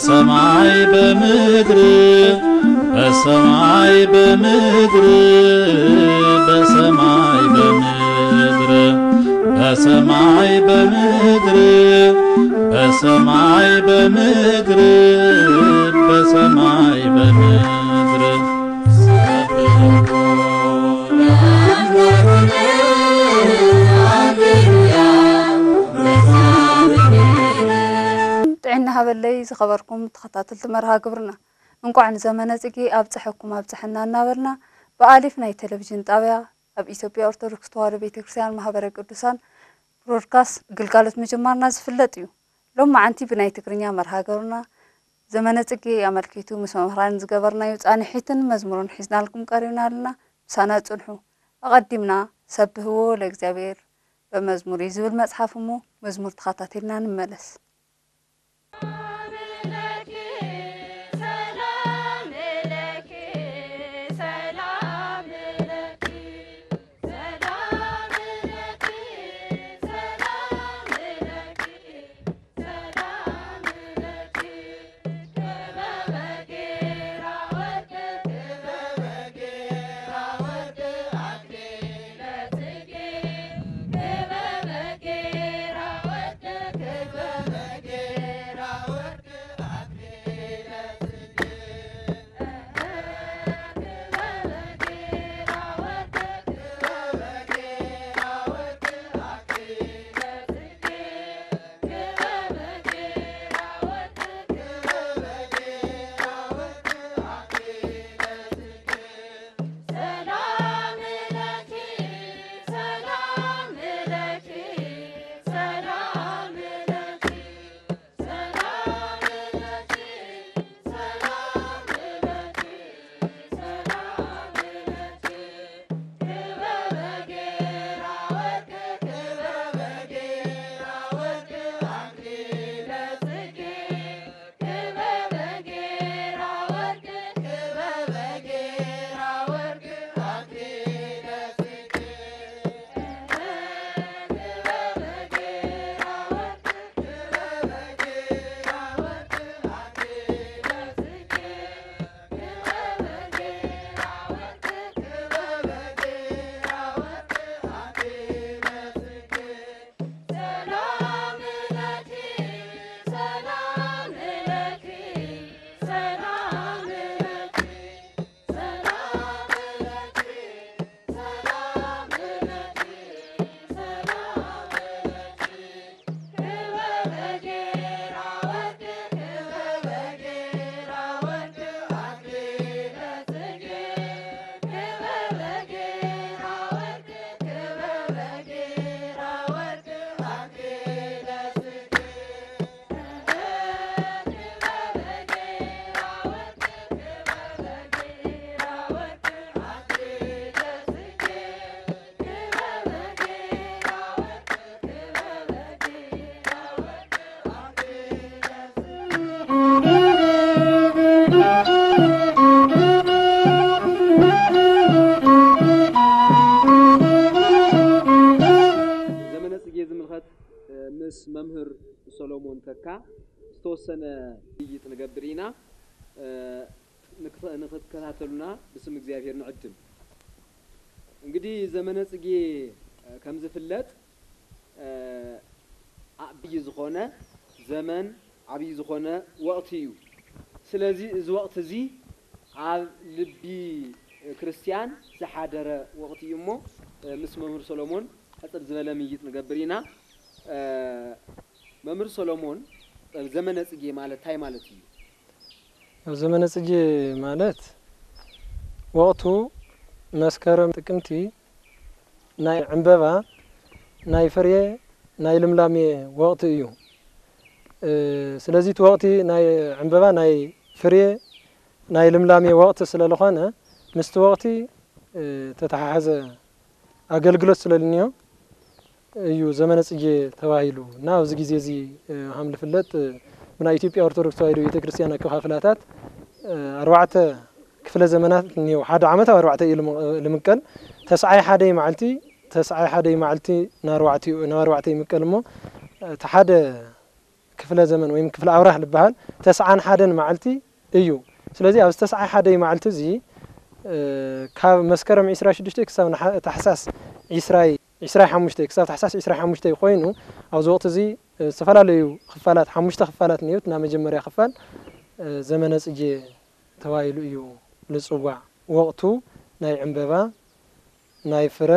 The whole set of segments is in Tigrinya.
ሰማይ በምድር፣ በሰማይ በምድር፣ በሰማይ በምድር፣ በሰማይ በምድር፣ በሰማይ በምድር፣ በሰማይ በምድር። ጥዕና ሃበለይ ዝኸበርኩም ተኸታተልቲ መርሃ ግብርና፣ እንቋዕ ንዘመነ ጽጌ ኣብጽሐኩም ኣብጽሐና እናበልና፣ ብኣሊፍ ናይ ቴሌቪዥን ጣብያ ኣብ ኢትዮጵያ ኦርቶዶክስ ተዋህዶ ቤተክርስትያን ማህበረ ቅዱሳን ብሮድካስት ግልጋሎት ምጅማርና ዝፍለጥ እዩ። ሎማዓንቲ ብናይ ትግርኛ መርሃ ግብርና ዘመነ ጽጌ ኣመልኪቱ ምስ መምህራን ዝገበርናዮ ጻንሒትን መዝሙርን ሒዝናልኩም ቀሪብና ኣለና። ምሳና ጽንሑ። ኣቐዲምና ሰብህዎ ለእግዚኣብሔር በመዝሙር እዩ ዝብል መጽሓፍ እሞ መዝሙር ተኸታቲልና ንመለስ። ዘመነ ጽጌ ዝምልኸት፣ እ፣ ምስ መምህር ሰሎሞን ተካ ዝተወሰነ ውይይት ንገብር ኢና። እ፣ ንክተ-፣ ንክትከታተሉና ብስም እግዚኣብሔር ንዕድም። እንግዲህ ዘመነ ጽጌ፣ እ፣ ከም ዝፍለጥ፣ እ፣ ዓብዪ ዝኾነ ዘመን፣ ዓብዪ ዝኾነ ወቕቲ እዩ። ስለዚ እዚ ወቕቲ እዚ ኣብ ልቢ ክርስትያን ዝሓደረ ወቕቲ እዩ እሞ፣ እ፣ ምስ መምህር ሰሎሞን ሕጽር ዝበለ ምይይጥ ንገብር ኢና። እ፣ መምህር ሰሎሞን፣ ዘመነ ጽጌ ማለት እንታይ ማለት እዩ? ኣብ ዘመነ ጽጌ ማለት ወቕቱ መስከረም፣ ጥቅምቲ ናይ ዕምበባ፣ ናይ ፍሬ፣ ናይ ልምላሜ ወቕቲ እዩ። እ፣ ስለዚ እቲ ወቕቲ ናይ ዕምበባ፣ ናይ ፍሬ፣ ናይ ልምላሜ ወቕቲ ስለ ዝኾነ ምስቲ ወቕቲ፣ እ፣ ተተሓሓዘ ኣገልግሎት ስለ ልንዮ እዩ ዘመነ ጽጌ ተባሂሉ። እና ኣብዚ ግዜ እዚ፣ እ፣ ከም ዝፍለጥ፣ እ፣ ብናይ ኢትዮጵያ ኦርቶዶክስ ተዋህዶ ቤተክርስትያን ኣከፋፍላታት፣ እ፣ ኣርባዕተ ክፍለ ዘመናት እኒአው። ሓደ ዓመት ኣብ ኣርባዕተ እዩ ልም-፣ ልምቀል። ተስዓይ ሓደ መዓልቲ፣ ተስዓይ ሓደ መዓልቲ ንኣርባዕቲኡ፣ ናብ ኣርባዕተ ይምቀል እሞ፣ እቲ ሓደ ክፍለ ዘመን ወይም ክፍለ ኣውራህ ዝበሃል ተስዓን ሓደን መዓልቲ እዩ። ስለዚ ኣብዚ ተስዓይ ሓደይ መዓልቲ እዚ፣ እ፣ ካብ መስከረም ዕስራ ሽዱሽተ ክሳብ ንሓ-፣ ታሕሳስ ዕስራይ፣ ዕስራይ ሓሙሽተ ክሳብ ታሕሳስ ዕስራይ ሓሙሽተ ኮይኑ፣ ኣብዚ ወቕቲ እዚ፣ እ፣ ዝተፈላለዩ ክፋላት፣ ሓሙሽተ ክፋላት እኒኦት። ናብ መጀመርያ ክፋል፣ እ፣ ዘመነ ጽጌ ተባሂሉ እዩ ዝጽዋዕ። ወቕቱ ናይ ዕምበባ፣ ናይ ፍረ፣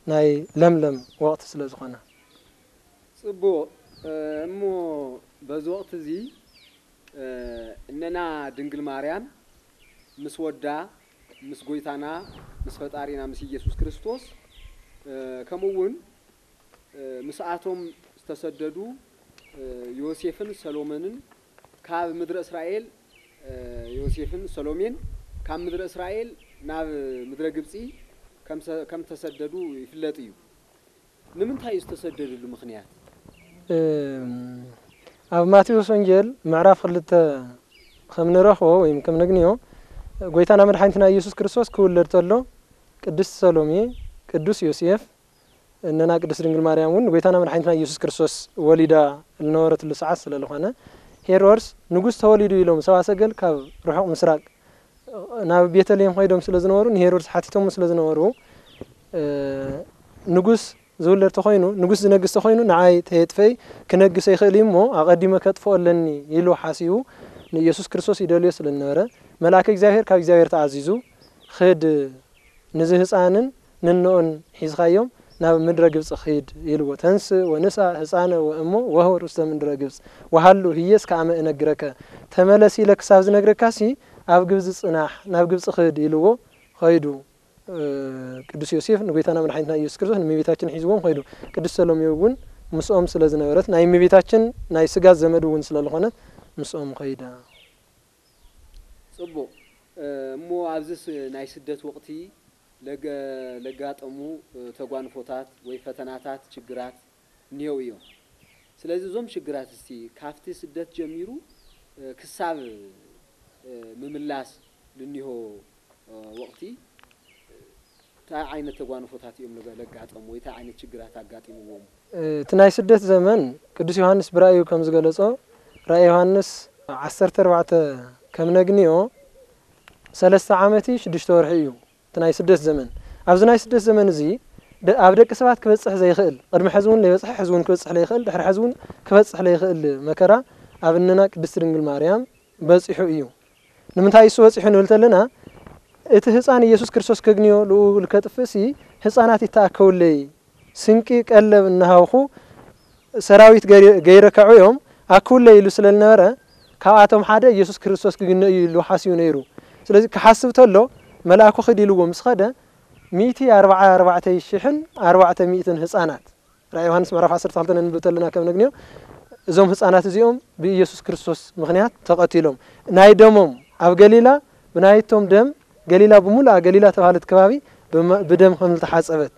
ናይ ለምለም ወቕቲ ስለ ዝኾነ። ጽቡቕ። እ፣ እሞ በዚ ወቕቲ እዚ፣ እ፣ እነና ድንግል ማርያም ምስ ወዳ፣ ምስ ጎይታና፣ ምስ ፈጣሪና፣ ምስ ኢየሱስ ክርስቶስ፣ እ፣ ከምኡ እውን፣ እ፣ ምስኣቶም ዝተሰደዱ፣ እ፣ ዮሴፍን ሰሎሞንን ካብ ምድረ እስራኤል፣ እ፣ ዮሴፍን ሰሎሜን ካብ ምድረ እስራኤል ናብ ምድረ ግብጺ ከም ሰ-፣ ከም ተሰደዱ ይፍለጥ እዩ። ንምንታይ እዩ ዝተሰደድሉ ምኽንያት? እም፣ ኣብ ማቴዎስ ወንጌል ምዕራፍ ክልተ ከም ንረኽቦ ወይም ከም ነግንዮ፣ ጎይታና መድሓኒትና ኢየሱስ ክርስቶስ ክውለድ ተሎ፣ ቅድስት ሰሎሜ፣ ቅዱስ ዮሴፍ፣ እነና ቅድስት ድንግል ማርያም እውን ንጎይታና መድሓኒትና ኢየሱስ ክርስቶስ ወሊዳ ልነበረትሉ ሰዓት ስለ ዝኾነ፣ ሄሮድስ ንጉስ ተወሊዱ ኢሎም ሰብኣ ሰገል ካብ ርሑቕ ምስራቅ ናብ ቤተልሔም ኸይዶም ስለ ዝነበሩ፣ ንሄሮድስ ሓቲቶሙ ስለ ዝነበሩ፣ እ፣ ንጉስ ዝውለድ ተኾይኑ፣ ንጉስ ዝነግስ ተኾይኑ፣ ንዓይ ተየጥፈይ ክነግስ ኣይኽእል እዩ እሞ፣ ኣቐዲመ ከጥፍኦ ኣለኒ ኢሉ ሓሲቡ፣ ንኢየሱስ ክርስቶስ ይደልዮ ስለ ዝነበረ፣ መልኣከ እግዚኣብሔር ካብ እግዚኣብሔር ተኣዚዙ፣ "ኽድ፣ ንዚ ህፃንን ንኖኡን ሒዝኻዮም ናብ ምድረ ግብፂ ኺድ" ኢልዎ። "ተንስ ወንሳ ህፃነ ወእሞ ወህወር ውስተ ምድረ ግብፅ ወሃሉ ህየስ ከኣመ እነግረከ።" ተመለስ ኢለ ክሳብ ዝነግረካሲ፣ ኣብ ግብፂ ፅናሕ፣ ናብ ግብፂ ኽድ ኢልዎ ኸይዱ። እ፣ ቅዱስ ዮሴፍ ንጎይታና መድሓኒትና ኢየሱስ ክርስቶስ ንእመቤታችን ሒዝዎም ኸይዱ። ቅድስት ሰሎሜ እውን ምስኦም ስለ ዝነበረት፣ ናይ እመቤታችን ናይ ስጋ ዘመድ እውን ስለ ዝኾነት፣ ምስኦም ኸይዳ። ጽቡቕ። እ፣ እሞ ኣብዚስ ናይ ስደት ወቕቲ ለገ-፣ ለጋጠሙ፣ እ፣ ተጓንፎታት ወይ ፈተናታት፣ ችግራት እኒሄው እዮም። ስለዚ እዞም ሽግራት እስቲ ካብቲ ስደት ጀሚሩ፣ እ፣ ክሳብ፣ እ፣ ምምላስ ልኒሆ፣ እ፣ ወቕቲ፣ እ፣ እንታይ ዓይነት ተጓንፎታት እዮም ለገ-፣ ለጋጠሙ ወይ እንታይ ዓይነት ሽግራት ኣጋጢምዎም? እ፣ እቲ ናይ ስደት ዘመን ቅዱስ ዮሃንስ ብራእዩ ከም ዝገለጾ፣ ራእይ ዮሃንስ ዓሰርተ ኣርባዕተ ከም ነግንዮ፣ ሰለስተ ዓመት ሽዱሽተ ወርሒ እዩ። እቲ ናይ ስደት ዘመን፣ ኣብዚ ናይ ስደት ዘመን እዚ ደ-፣ ኣብ ደቂ ሰባት ክበጽሕ ዘይኽእል፣ ቅድሚ ሕዚ እውን ለይበጽሐ፣ ሕዚ እውን ክበጽሕ ለይኽእል፣ ድሕሪ ሕዚ እውን ክበጽሕ ለይኽእል መከራ ኣብ እነና ቅድስት ድንግል ማርያም በጺሑ እዩ። ንምንታይ እሱ በጺሑ ንብል ተለና፣ እቲ ህጻን ኢየሱስ ክርስቶስ ከግንዮ ልኡ ልከጥፍእሲ፣ ህጻናት ይተኣከውለይ፣ ስንቂ ቀለብ እናሃብኹ ሰራዊት ገይረ-፣ ገይረ ከዕውዮም ኣክውለይ ኢሉ ስለ ዝነበረ፣ ካብኣቶም ሓደ ኢየሱስ ክርስቶስ ክግነ እዩ ኢሉ ሓሲቡ ነይሩ። ስለዚ ክሓስብ ተሎ፣ መልኣኩ ኺድ ኢልዎ ምስ ኸደ፣ ሚእቲ ኣርባዓ ኣርባዕተ ሽሕን ኣርባዕተ ሚእትን ህጻናት፣ ራእይ ዮሃንስ ምዕራፍ ዓሰርተ ክልተ ነንብብ ተለና ከም ነግንዮ፣ እዞም ህጻናት እዚኦም ብኢየሱስ ክርስቶስ ምኽንያት ተቐቲሎም። ናይ ደሞም ኣብ ገሊላ፣ ብናይቶም ደም ገሊላ ብምሉኣ ገሊላ ተባህለት ከባቢ ብመ-፣ ብደም ከም ዝተሓጸበት፣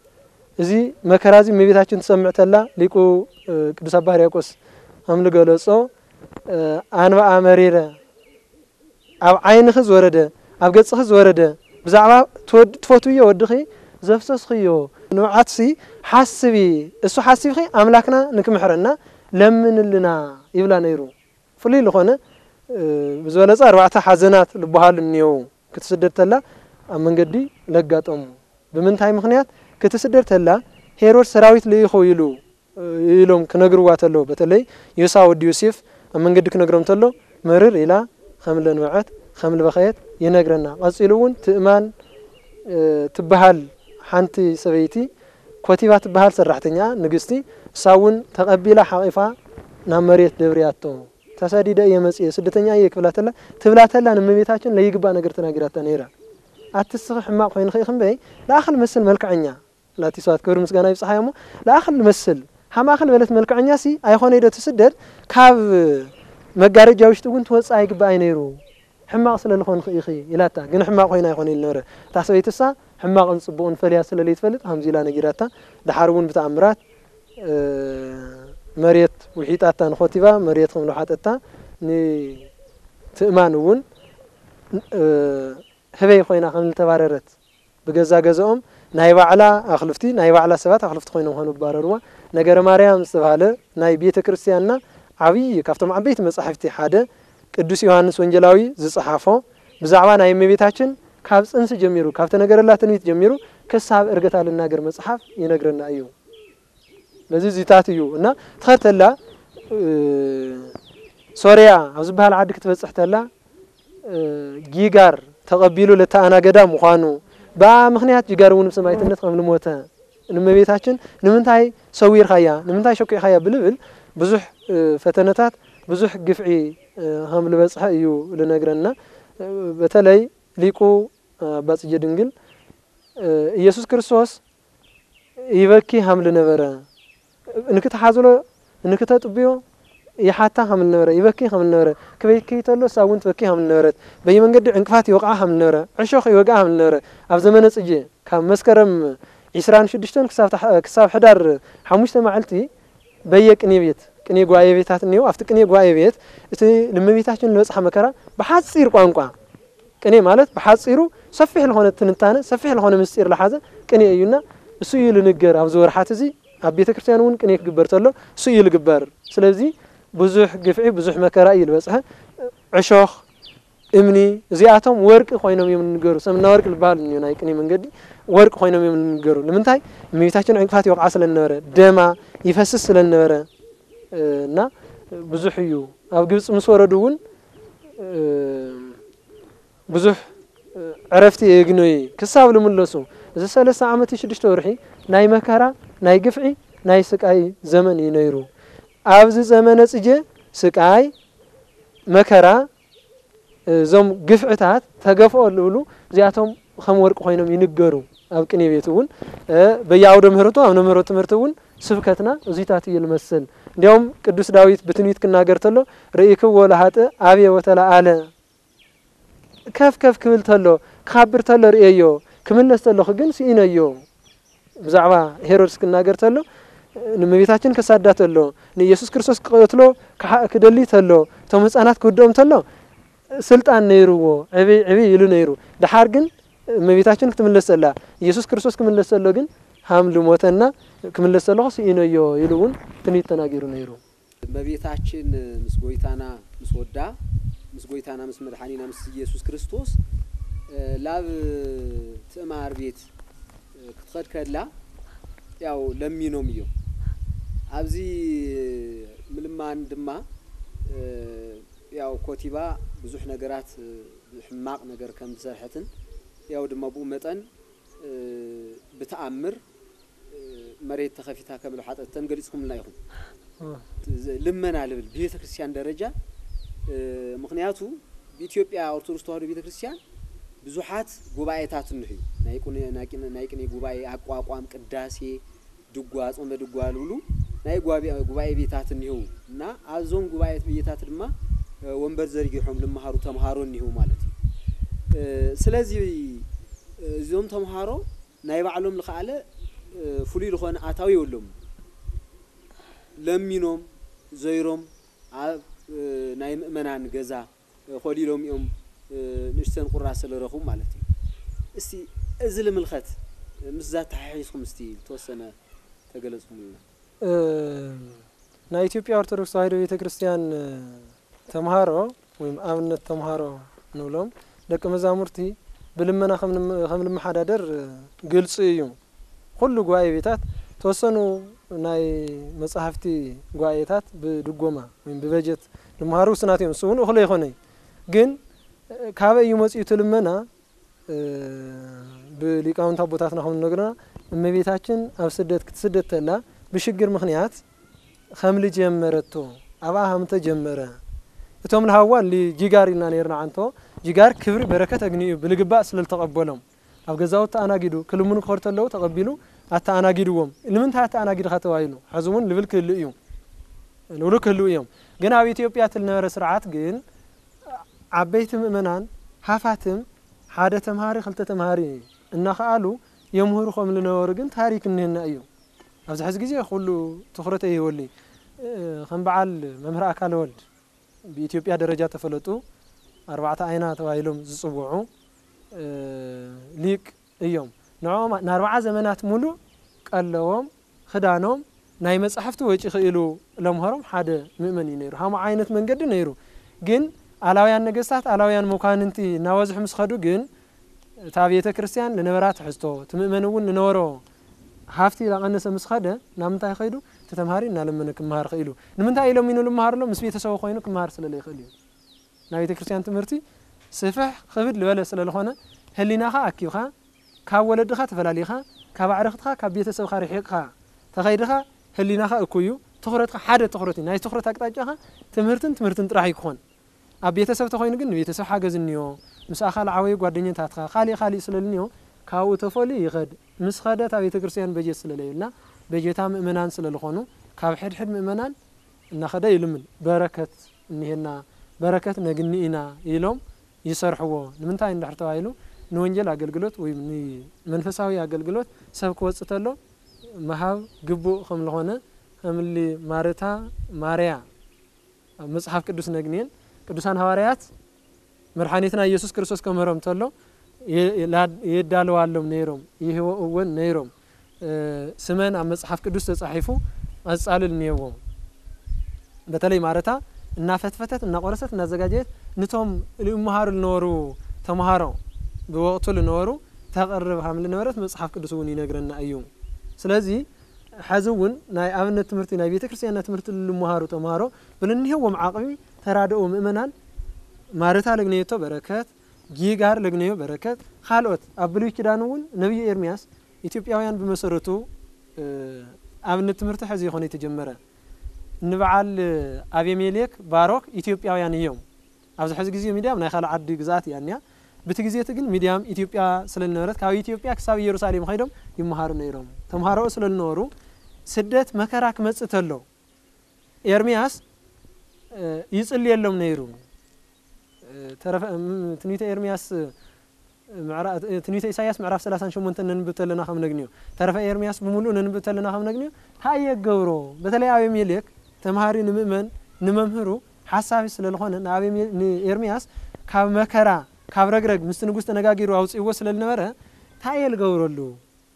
እዚ መከራ እዚ እመቤታችን ትሰምዕ ተላ፣ ሊቁ፣ እ፣ ቅዱስ ኣባ ሕርያቆስ ከም ዝገለጾ፣ እ፣ ኣንብኣ መሪረ፣ ኣብ ዓይንኺ ዝወረደ፣ ኣብ ገጽኺ ዝወረደ፣ ብዛዕባ ትወድ-፣ ትፈትውዮ ወድኺ ዘፍሰስኽዮ ንብዓትሲ ሓስቢ፣ እሱ ሓሲብኺ ኣምላክና ንክምሕረና ለምንልና ይብላ ነይሩ። ፍሉይ ዝኾነ፣ እ፣ ብዝበለጸ ኣርባዕተ ሓዘናት ዝበሃሉ እኒአው። ክትስደድ ተላ ኣብ መንገዲ ለጋጠሙ። ብምንታይ ምኽንያት ክትስደድ ተላ ሄሮድስ ሰራዊት ልኢኹ ኢሉ፣ እ፣ ኢሎም ክነግርዋ ተለዉ። በተለይ ዮሳ ወዲ ዮሴፍ ኣብ መንገዲ ክነግሮም ተሎ፣ ምርር ኢላ ከም ለንብዐት፣ ከም ልበኸየት ይነግረና። ቀጺሉ እውን ትእማን፣ እ፣ ትበሃል ሓንቲ ሰበይቲ ኮቲባ ትበሃል ሰራሕተኛ ንግስቲ፣ እሳ እውን ተቐቢላ ሓቒፋ ናብ መሬት ደብርያቶ። "ተሰዲደ እየ መጽየ፣ ስደተኛ እየ" ክብላ ተላ፣ ትብላ ተላ ንእመቤታችን ለይግባእ ነገር ተናጊራታ ነይራ። "ኣቲ እስኺ ሕማቕ ኮይንኺ ኢኺ እምበይ፣ ለኣኽል መስል መልክዐኛ" ላቲ ስብሐት ክብሪ ምስጋና ይብጽሓዮ እሞ፣ ለኣኽል መስል፣ ሃማእኽል በለት መልክዐኛሲ ኣይኾነ ኢዶ ትስደድ፣ ካብ መጋረጃ ውሽጢ እውን ትወጽእ ኣይግባኣይ ነይሩ፣ ሕማቕ ስለ ዝኾንኺ ኢኺ ኢላታ። ግን ሕማቕ ኮይና ኣይኾነ ኢሉ ነበረ። እታ ሰበይትሳ ሕማቕን ጽቡቕን ፈልያ ስለ ለይትፈልጥ፣ ከምዚ ኢላ ነጊራታ። ደሓር እውን ብተኣምራት፣ እ፣ መሬት ውሒጣታ ንኾቲባ፣ መሬት ከም ዝወሓጠታ ንትእማን እውን፣ እ፣ ህበይ ኮይና ከም ዝተባረረት፣ ብገዛ ገዛኦም ናይ ባዕላ ኣኽልፍቲ፣ ናይ ባዕላ ሰባት ኣኽልፍቲ ኮይኖም ከም ዝባረርዋ፣ ነገረ ማርያም ዝተባህለ ናይ ቤተ ክርስቲያንና ዓብዪ ካብቶም ዓበይቲ መጻሕፍቲ ሓደ ቅዱስ ዮሃንስ ወንጌላዊ ዝጸሓፎ ብዛዕባ ናይ እመቤታችን ካብ ጽንሲ ጀሚሩ፣ ካብ ተነገረላ ትንቢት ጀሚሩ ክሳብ ዕርገታ ልናገር መጽሓፍ ይነግረና እዩ። በዚ እዚታት እዩ እና ትኸድ ተላ፣ እ፣ ሶርያ ኣብ ዝበሃል ዓዲ ክትበጽሕ ተላ፣ እ፣ ጊጋር ተቐቢሉ ለተኣናገዳ ምዃኑ፣ ብኣ ምኽንያት ጊጋር እውን ብሰማዕትነት ከም ልሞተ፣ ንእመቤታችን ንምንታይ ሰዊርካያ፣ ንምንታይ ሸኪዕካያ ብልብል ብዙሕ፣ እ፣ ፈተነታት፣ ብዙሕ ግፍዒ፣ እ፣ ከም ልበጽሐ እዩ ልነግረና። እ፣ በተለይ ሊቁ፣ እ፣ ኣባ ጽጌ ድንግል፣ እ፣ ኢየሱስ ክርስቶስ ይበኪ ከም ልነበረ፣ እንክትሓዝሎ፣ እንክተጥብዮ ይሓታ ከም ልነበረ፣ ይበኪ ከም ልነበረ፣ ክበኪ ተሎ እሳ እውን ትበኪ ከም ልነበረት፣ በየመንገዲ ዕንቅፋት ይወቕዓ ከም ልነበረ፣ ዕሾኽ ይወግኣ ከም ልነበረ፣ ኣብ ዘመነ ጽጌ ካብ መስከረም ዒስራን ሽዱሽተን ክሳብ ታሕ-፣ ክሳብ ሕዳር ሓሙሽተ መዓልቲ በየ ቅኔ ቤት፣ ቅኔ ጉባኤ ቤታት እኒኦ፣ ኣብቲ ቅኔ ጉባኤ ቤት እቲ ንእመቤታችን ዝበጽሓ መከራ ብሓጺር ቋንቋ፣ ቅኔ ማለት ብሓጺሩ ሰፊሕ ዝኾነ ትንታነ፣ ሰፊሕ ዝኾነ ምስጢር ዝሓዘ ቅኔ እዩና፣ እሱ እዩ ልንገር። ኣብዚ ወርሓት እዚ ኣብ ቤተ ክርስቲያን እውን ቅኔ ክግበር ተሎ እሱ እዩ ልግበር። ስለዚ ብዙሕ ግፍዒ፣ ብዙሕ መከራ እዩ ልበጽሐ። ዕሾኽ፣ እምኒ፣ እዚኣቶም ወርቂ ኮይኖም እዮም ልንገሩ። ሰምና ወርቂ ልበሃል እዩ ናይ ቅኔ መንገዲ፣ ወርቂ ኮይኖም እዮም ልንገሩ። ንምንታይ? እመቤታችን ዕንቅፋት ይወቕዓ ስለ ልነበረ፣ ደማ ይፈስስ ስለ ልነበረ፣ እ፣ እና ብዙሕ እዩ። ኣብ ግብጺ ምስ ወረዱ እውን፣ እ፣ ብዙሕ፣ እ፣ ዕረፍቲ የግነዩ ክሳብ ልምለሱ። እዚ ሰለስተ ዓመት ሽዱሽተ ወርሒ ናይ መከራ፣ ናይ ግፍዒ፣ ናይ ስቃይ ዘመን እዩ ነይሩ። ኣብዚ ዘመነ ጽጌ ስቃይ፣ መከራ፣ እዞም ግፍዕታት ተገፍኦ ልብሉ እዚኣቶም ከም ወርቂ ኮይኖም ይንገሩ። ኣብ ቅኔ ቤት እውን፣ እ፣ በየኣውደ ምህረቱ፣ ኣብ ምህሮ ትምህርቲ እውን ስብከትና እዚታት እዩ ልመስል። እንዲያውም ቅዱስ ዳዊት ብትንቢት ክናገር ተሎ፣ "ርኢክዎ ለሃጥእ አብየ ወተለዓለ"፣ ከፍ ከፍ ክብል ተሎ፣ ክኻብር ተሎ ርእየዮ፣ ክምለስ ተለኹ ግን ስኢነዮ። ብዛዕባ ሄሮድስ ክናገር ተሎ፣ ንእመቤታችን ከሳዳ ተሎ፣ ንኢየሱስ ክርስቶስ ክቐትሎ ክሓ-፣ ክደሊ ተሎ፣ እቶም ህፃናት ክውድኦም ተሎ፣ ስልጣን ነይርዎ፣ ዕብይ ዕብይ ኢሉ ነይሩ። ደሓር ግን እመቤታችን ክትምለስ ተላ፣ ኢየሱስ ክርስቶስ ክምለስ ተሎ ግን ሃም ልሞተና፣ ክምለስ ተለኹ ስኢነዮ ኢሉ እውን ትንቢት ተናጊሩ ነይሩ። እመቤታችን ምስ ጎይታና፣ ምስ ወዳ፣ ምስ ጎይታና፣ ምስ መድሓኒና፣ ምስ ኢየሱስ ክርስቶስ፣ እ፣ ላብ ትእማር ቤት፣ እ፣ ክትኸድ ከላ፣ ያው ለሚኖም እዮም። ኣብዚ ምልማን ድማ፣ እ፣ ያው ኮቲባ ብዙሕ ነገራት፣ እ፣ ሕማቕ ነገር ከም ዝሰርሐትን፣ ያው ድማ ብኡ መጠን፣ እ፣ ብተኣምር፣ እ፣ መሬት ተኸፊታ ከም ዝሓጠተን ገሊጽኩምልና ኢኹም። እ። ዝ-፣ ልመና ልብል ብቤተ ክርስቲያን ደረጃ፣ እ፣ ምኽንያቱ ብኢትዮጵያ ኦርቶዶክስ ተዋህዶ ቤተ ክርስቲያን ብዙሓት ጉባኤታት እንሕዩ። ናይ ቁነ-፣ ናይ ቅነ-፣ ናይ ቅኔ ጉባኤ፣ ኣቋቋም፣ ቅዳሴ፣ ድጓ፣ ጾመ ድጓ ልብሉ ናይ ጓቢ-፣ ጉባኤ ቤታት እኒህው እና ኣብዞም ጉባኤ ቤታት ድማ፣ እ፣ ወንበር ዘርጊሖም ልመሃሩ ተምሃሮ እኒህው ማለት እዩ። እ፣ ስለዚ፣ እ፣ እዞም ተምሃሮ ናይ ባዕሎም ዝኸኣለ፣ እ፣ ፍሉይ ዝኾነ ኣታዊ የብሎም። ለሚኖም፣ ዘይሮም ኣብ፣ እ፣ ናይ ምእመናን ገዛ፣ እ፣ ኮሊሎም እዮም፣ እ፣ ንእሽተን ቁራስ ስለረኽቡ ማለት እዩ። እስቲ እዚ ልምልኸት፣ እ፣ ምስዛ ተሓሒዝኩም እስቲ ዝተወሰነ ተገለጽኩምልና። እ፣ ናይ ኢትዮጵያ ኦርቶዶክስ ተዋሕዶ ቤተ ክርስቲያን፣ እ፣ ተምሃሮ ወይም ኣብነት ተምሃሮ ንብሎም ደቂ መዛሙርቲ ብልመና ከም ንም-፣ ከም ልመሓዳደር፣ እ፣ ግልጺ እዩ። ኩሉ ጉባኤ ቤታት ተወሰኑ ናይ መጻሕፍቲ ጉባኤታት ብድጎማ ወይም ብበጀት ልመሃሩ ውስናት እዮም። እሱ እውን እኹል ኣይኮነይ። ግን፣ እ፣ ካበይ እዩ መጺኡ እቲ ልመና? እ፣ ብሊቃውንት ኣቦታትና ከም ዝነግሩና እመቤታችን ኣብ ስደት ክትስደድ ተላ ብሽግር ምኽንያት ከም ልጀመረቶ ኣብኣ ከም ተጀመረ እቶም ልሃዋ ሊ-፣ ጂጋር ኢልና ነይርና ዓንቶ ጂጋር ክብሪ በረከት ኣግኒኡ ብልግባእ ስለ ዝተቐበሎም ኣብ ገዛውቲ ተኣናጊዱ ክልምኑ ክኸዱ ተለዉ ተቐቢሉ ኣተኣናጊድዎም። ንምንታይ ኣተኣናጊድኻ ተባሂሉ ሕዚ እውን ልብል ክህሉ እዩ፣ ልብሉ ክህሉ እዮም። ግን ኣብ ኢትዮጵያ እቲ ዝነበረ ስርዓት ግን ዓበይቲ ምእመናን ሃፋትም ሓደ ተምሃሪ ክልተ ተምሃሪ እናኸኣሉ የምህሩ ከም ዝነበሩ ግን ታሪክ እኒህና እዩ። ኣብዚ ሕዚ ግዜ ኩሉ ትኹረት ኣይህበሉ። እ፣ ከም በዓል መምህር ኣካለ ወልድ ብኢትዮጵያ ደረጃ ተፈለጡ ኣርባዕተ ኣይና ተባሂሎም ዝጽውዑ፣ እ፣ ሊቅ እዮም። ንዕኦም ንኣርብዓ ዘመናት ሙሉእ ቀለዎም፣ ክዳኖም፣ ናይ መጻሕፍቲ ወጪ ክኢሉ ለምሃሮም ሓደ ምእመን እዩ ነይሩ። ሃሞ ዓይነት መንገዲ ነይሩ። ግን ኣላውያን ነገስታት፣ ኣላውያን መኳንንቲ እናበዝሑ ምስ ኸዱ ግን እታ ቤተ ክርስቲያን ልነበራ ትሕዝቶ፣ እቲ ምእመን እውን ልነበሮ ሃፍቲ ላቐነሰ ምስ ኸደ፣ ናብ ምንታይ ኸይዱ? እቲ ተምሃሪ እናለመነ ክመሃር ኽኢሉ። ንምንታይ ኢሎም ኢኑ ልመሃር ኣሎ? ምስ ቤተሰቡ ኮይኑ ክመሃር ስለ ዘይኽእል እዩ። ናይ ቤተ ክርስቲያን ትምህርቲ ስፍሕ ክብድ ልበለ ስለ ዝኾነ፣ ህሊናኻ ኣኪብካ፣ ካብ ወለድኻ ተፈላሊኻ፣ ካብ ኣዕርኽትኻ፣ ካብ ቤተሰብኻ ርሒቕካ ተኸይድኻ፣ ህሊናኻ እኩዩ፣ ትኹረትካ ሓደ ትኹረት እዩ። ናይ ትኹረት ኣቅጣጫኻ ትምህርትን ትምህርትን ጥራሕ እዩ ክኾን። ኣብ ቤተሰብ ተኾይኑ ግን ንቤተሰብ ሓገዝ እኒኦ፣ ምስ ኣኻ ልዓበዩ ጓደኛታትኻ፣ ካሊእ ካሊእ ስለ ልኒኦ፣ ካብኡ ተፈልዩ ይኸድ። ምስ ኸደ እታ ቤተ ክርስቲያን በጀት ስለ ለየብልና፣ በጀታ ምእመናን ስለ ልኾኑ፣ ካብ ሕድሕድ ምእመናን እናኸደ ይልምን። በረከት እኒሄና፣ በረከት ነግኒ ኢና ኢሎም ይሰርሕዎ። ንምንታይ እንድሕር ተባሂሉ፣ ንወንጌል ኣገልግሎት ወይ ንመንፈሳዊ ኣገልግሎት ሰብ ክወጽእ ተሎ ምሃብ ግቡእ ከም ዝኾነ፣ ከምሊ ማርታ ማርያ ኣብ መጽሓፍ ቅዱስ ነግንየን። ቅዱሳን ሃዋርያት መድሓኒትና ኢየሱስ ክርስቶስ ከምህሮም ተሎ የ-፣ ላ-፣ የዳልዋሎም ነይሮም፣ ይህወእወን ነይሮም። እ፣ ስመን ኣብ መጽሓፍ ቅዱስ ተጻሒፉ ቀጻሊ እኒሄዎ። በተለይ ማረታ እናፈትፈተት፣ እናቆረሰት፣ እናዘጋጀየት ንቶም ይመሃሩ ዝነበሩ ተምሃሮ ብወቕቱ ዝነበሩ ተቕርብ ሃም ዝነበረት መጽሓፍ ቅዱስ እውን ይነግረና እዩ። ስለዚ ሕዚ እውን ናይ ኣብነት ትምህርቲ፣ ናይ ቤተ ክርስቲያንና ትምህርቲ ልመሃሩ ተምሃሮ ብልንሄዎም ዓቕሚ ተራድኦ ምእመናን ማረታ ለግነየቶ በረከት፣ ጊጋር ለግነዮ በረከት፣ ካልኦት ኣብ ብሉይ ኪዳን እውን ነቢዩ ኤርምያስ ኢትዮጵያውያን ብመሰረቱ፣ እ፣ ኣብነት ትምህርቲ ሕዚ ይኾነ የተጀመረ። ንበዓል ኣቤሜሌክ ባሮክ ኢትዮጵያውያን እዮም። ኣብዚ ሕዚ ግዜ ሚድያም ናይ ካልእ ዓዲ ግዝኣት እያ እኒያ። ብቲ ግዜ እቲ ግን ሚድያም ኢትዮጵያ ስለ ዝነበረት ካብ ኢትዮጵያ ክሳብ ኢየሩሳሌም ኸይዶም ይመሃሩ ነይሮም። ተምሃሮኡ ስለ ዝነበሩ ስደት መከራ ክመጽእ ተሎ ኤርምያስ፣ እ፣ ይጽልየሎም ነይሩ። እ፣ ተረፈ፣ እም፣ ትንቢተ ኤርምያስ፣ እ፣ ምዕራ-፣ እ፣ ትንቢተ ኢሳይያስ ምዕራፍ ሰላሳን ሸሞንተን ነንብብ ተለና ከም ነግንዮ፣ ተረፈ ኤርምያስ ብምሉኡ ነንብብ ተለና ከም ነግንዮ፣ እንታይ እየ ክገብሮ? በተለይ ኣቤሜሌክ ተምሃሪ ንምእመን፣ ንመምህሩ ሓሳቢ ስለ ዝኾነ፣ ንኣቤሜ-፣ ንኤርምያስ ካብ መከራ፣ ካብ ረግረግ ምስቲ ንጉስ ተነጋጊሩ ኣውጽእዎ ስለ ዝነበረ፣ እንታይ እየ ዝገብረሉ?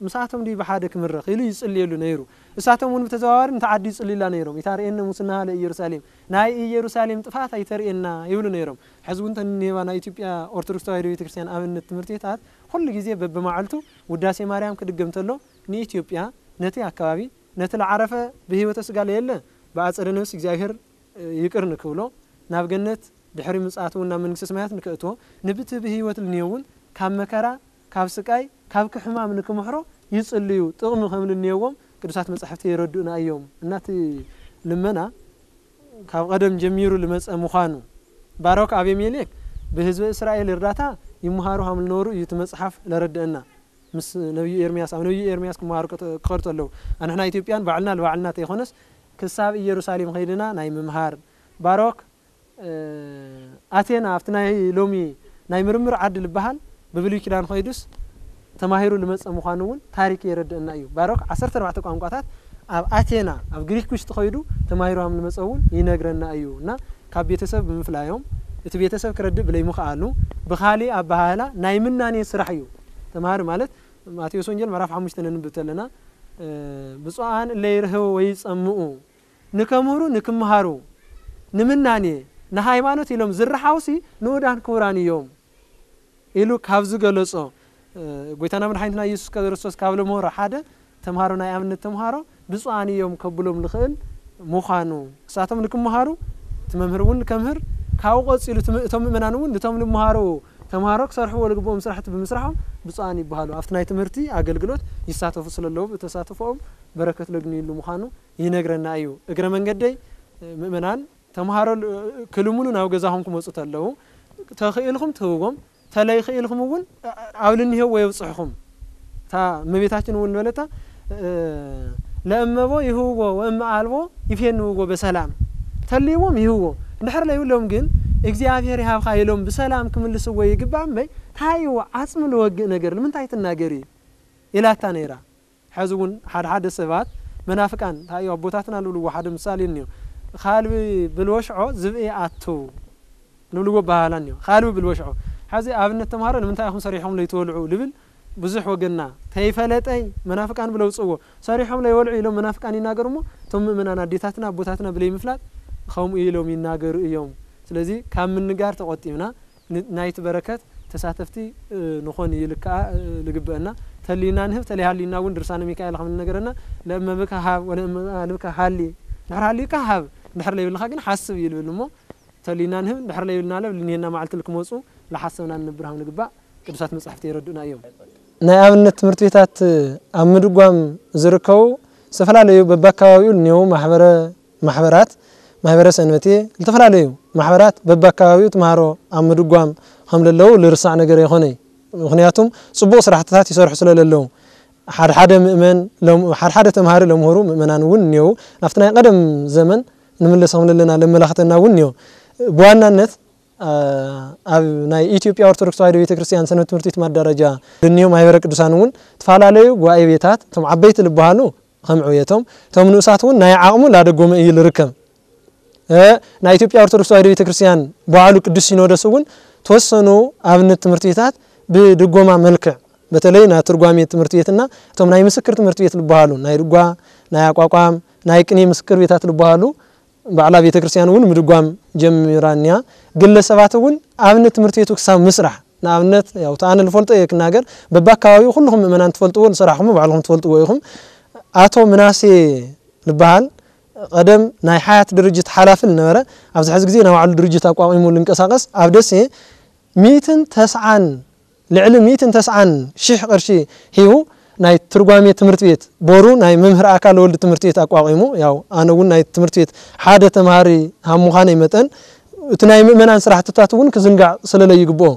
ምሳቶም ድዩ ብሓደ ክምረኽ ኢሉ ይጽልየሉ ነይሩ። እሳቶም እውን ብተዘዋዋሪ ነቲ ዓዲ ይጽልዩላ ነይሮም። "ይታርኤነ ሙስናሃ ለኢየሩሳሌም፣ ናይ ኢየሩሳሌም ጥፍኣት ኣይተርእየና" ይብሉ ነይሮም። ሕዚ እውን ተን ኔባ ናይ ኢትዮጵያ ኦርቶዶክስ ተዋሕዶ ቤተክርስትያን ኣብነት ትምህርቲታት ኩሉ ግዜ በብመዓልቱ ውዳሴ ማርያም ክድገም ተሎ ንኢትዮጵያ፣ ነቲ ኣካባቢ፣ ነቲ ለዓረፈ ብህይወተ ስጋ ለየለ ብኣጸደ ነፍስ እግዚኣብሔር ይቅር ንክብሎ፣ ናብ ገነት ድሕሪ ምጽኣቱ እውን ናብ መንግስተ ሰማያት ንከእትዎ፣ ንብቲ ብህይወት ልንዮ እውን ካብ መከራ፣ ካብ ስቃይ፣ ካብ ክሕማም ንክምሕሮ ይጽልዩ፣ ጥቕሚ ከም ልንየዎም ቅዱሳት መጻሕፍቲ የረድኡና እዮም። እና እቲ ልመና ካብ ቀደም ጀሚሩ ልመጸ ምዃኑ፣ ባሮክ ኣቤሜሌክ ብህዝበ እስራኤል እርዳታ ይመሃሩ ሃም ልነበሩ እዩ እቲ መጽሓፍ ለረድአና። ምስ ነቢዩ ኤርምያስ፣ ኣብ ነቢዩ ኤርምያስ ክመሃሩ ክኸዱ ኣለዉ። ኣንሕና ኢትዮጵያን ባዕልና ልባዕልና ተይኮነስ ክሳብ ኢየሩሳሌም ኸይድና ናይ ምምሃር። ባሮክ፣ እ፣ ኣቴና ኣብቲ ናይ ሎሚ ናይ ምርምር ዓዲ ልበሃል ብብሉይ ኪዳን ኸይዱስ ተማሂሩ ልመጸ ምዃኑ እውን ታሪክ የረድአና እዩ። ባሮክ ዓሰርተ ኣርባዕተ ቋንቋታት ኣብ ኣቴና፣ ኣብ ግሪክ ውሽጢ ኸይዱ ተማሂሩ ሃም ልመጸ እውን ይነግረና እዩ። እና ካብ ቤተሰብ ብምፍላዮም፣ እቲ ቤተሰብ ክረድእ ብለይምኽኣሉ፣ ብኻሊእ ኣበሃህላ ናይ ምናኔ ስራሕ እዩ። ተማሃሪ ማለት ማቴዎስ ወንጌል ምዕራፍ ሓሙሽተ ነንብብ ተለና፣ እ፣ "ብፁዓን እለ ይርህው ወይ ይጸምኡ፣ ንከምህሩ ንክምሃሩ፣ ንምናኔ፣ ንሃይማኖት ኢሎም ዝረሓውሲ ንኡዳን ክቡራን እዮም" ኢሉ ካብ ዝገለጾ፣ እ፣ ጎይታና መድሓኒትና ኢየሱስ ክርስቶስ ካብ ለምህሮ ሓደ ተምሃሮ ናይ ኣብነት ተምሃሮ ብፁዓን እዮም ከብሎም ልኽእል ምዃኑ፣ እሳቶም ንክምሃሩ እቲ መምህር እውን ንከምህር፣ ካብኡ ቀጺሉ እቲ ም-፣ እቶም ምእመናን እውን ንቶም ልምሃሩ ተምሃሮ ክሰርሕዎ ልግብኦም ስራሕቲ ብምስራሖም ብፁዓን ይበሃሉ። ኣብቲ ናይ ትምህርቲ ኣገልግሎት ይሳተፉ ስለ ኣለዉ ብተሳትፎኦም በረከት ለግንዩሉ ምዃኑ ይነግረና እዩ። እግረ መንገደይ፣ እ፣ ምእመናን ተምሃሮ ል-፣ ክልምኑ ናብ ገዛኹም ክመጹ ተለዉ፣ ተኽኢልኹም ትህብዎም፣ ተለይኽኢልኹም እውን ኣብ ልንሄዎ የብጽሕኹም። እታ እመቤታችን እውን በለታ፣ እ፣ "ለእመቦ ይህብዎ ወእመ ኣልቦ ይፌንውዎ በሰላም።" ተልይዎም ይህብዎ። እንድሕር ለይብሎም ግን፣ "እግዚኣብሔር ይሃብካ" ኢሎም ብሰላም ክምልስዎ ይግባእ እምበይ፣ እንታይ እዩ ዓጽሚ ልወግእ ነገር? ንምንታይ ትናገሪ? ኢላታ ነይራ። ሕዚ እውን ሓደ ሓደ ሰባት መናፍቃን፣ እንታይ እዩ ኣቦታትና ልብልዎ ሓደ ምሳሌ እኒኦ፣ "ካልቢ ብልወሽዖ ዝብኢ ኣቱ" ልብልዎ ኣበሃህላ እኒኦ። "ካልቢ ብልወሽዖ"። ሕዚ ኣብነት ተምሃሮ ንምንታይ ኢኹም ሰሪሕኹም ለይትበልዑ ልብል ብዙሕ ወገንና ተይፈለጠይ መናፍቃን ብለው ጽዎ ሰሪሖም ለይበልዑ ኢሎም መናፍቃን ይናገሩ እሞ፣ እቶም ምእመናን ኣዴታትና ኣቦታትና ብለይ ምፍላጥ ከምኡ ኢሎም ይናገሩ እዮም። ስለዚ ካብ ምንጋር ተቆጢብና፣ ን-፣ ናይቲ በረከት ተሳተፍቲ፣ እ፣ ንኾን እዩ ልክዓ፣ እ፣ ልግበአና። ተሊና ንህብ፣ ተለይሃሊና እውን ድርሳነ ሚካኤል ከም ንነገረና፣ ለእመ ብከ ሃብ ወለእመ ኣልብከ ሃሊ፣ ድሕር ሃሊካ ሃብ፣ ድሕር ለይብልካ ግን ሓስብ እዩ ልብል እሞ፣ ተሊና ንህብ፣ ድሕር ለይብልና ለብ ልንሄና መዓልቲ ልክመፁ፣ ለሓሰብና ንነብር ሃም ንግባእ ቅዱሳት መጻሕፍቲ የረዱና እዮም። ናይ ኣብነት ትምህርቲ ቤታት ኣብ ምድጓም ዝርከቡ ዝተፈላለዩ በባካባቢኡ ልንሄው ማሕበረ ማሕበራት፣ ማሕበረ ሰንበቴ፣ ዝተፈላለዩ ማሕበራት በባካባቢኡ ተምሃሮ ኣብ ምድጓም ከም ለለዉ ልርሳዕ ነገር ኣይኮነይ። ምኽንያቱም ጽቡቕ ስራሕትታት ይሰርሑ ስለ ለለዉ፣ ሓደ ሓደ ምእመን ሎም-፣ ሓደ ሓደ ተምሃሪ ለምህሩ ምእመናን እውን እኒአው። ናብቲ ናይ ቀደም ዘመን ንምለስ ከም ለለና ለመላኽተና እውን እኒኦ። ብዋናነት፣ አ፣ ኣብ ናይ ኢትዮጵያ ኦርቶዶክስ ተዋሕዶ ቤተክርስትያን ሰንበት ትምህርቲ ቤት ማደራጃ ልንዮ ማሕበረ ቅዱሳን እውን ተፈላለዩ ጉባኤ ቤታት፣ እቶም ዓበይቲ ዝበሃሉ ከም ዕብየቶም፣ እቶም ንኡሳት እውን ናይ ዓቕሙ ላደጎመ እዩ ልርከብ። እ፣ ናይ ኢትዮጵያ ኦርቶዶክስ ተዋሕዶ ቤተክርስትያን በዓሉ ቅዱስ ሲኖዶስ እውን ተወሰኑ ኣብነት ትምህርቲ ቤታት ብድጎማ መልክዕ፣ በተለይ ናይ ትርጓሜ ትምህርቲ ቤትና እቶም ናይ ምስክር ትምህርቲ ቤት ዝበሃሉ ናይ ድጓ፣ ናይ ኣቋቋም፣ ናይ ቅኔ ምስክር ቤታት ዝበሃሉ ባዕላ ቤተክርስትያን እውን ምድጓም ጀሚራ እኒያ። ግለሰባት እውን ኣብነት ትምህርቲ ቤቱ ክሳብ ምስራሕ፣ ንኣብነት ያው እቲ ኣነ ልፈልጦ እየ ክናገር፣ በባካባቢኡ ኩልኹም ምእመናን ትፈልጥዎ፣ ዝሰራሕኹም ባዕልኹም ትፈልጥዎ ኢኹም። ኣቶ ምናሴ ዝበሃል ቀደም ናይ ሓያት ድርጅት ሓላፊ ዝነበረ፣ ኣብዚ ሕዚ ግዜ ናይ ባዕሉ ድርጅት ኣቋቒሙ ልንቀሳቐስ፣ ኣብ ደሴ ሚእትን ተስዓን፣ ልዕሊ ሚእትን ተስዓን ሺሕ ቅርሺ ሂቡ ናይ ትርጓሜ ትምህርቲ ቤት፣ ቦሩ ናይ መምህር ኣካለ ወልድ ትምህርቲ ቤት ኣቋቒሙ፣ ያው ኣነ እውን ናይ ትምህርቲ ቤት ሓደ ተምሃሪ ሃብ ምዃነይ መጠን፣ እቲ ናይ ምእመናን ስራሕትታት እውን ክዝንጋዕ ስለለይግብኦ፣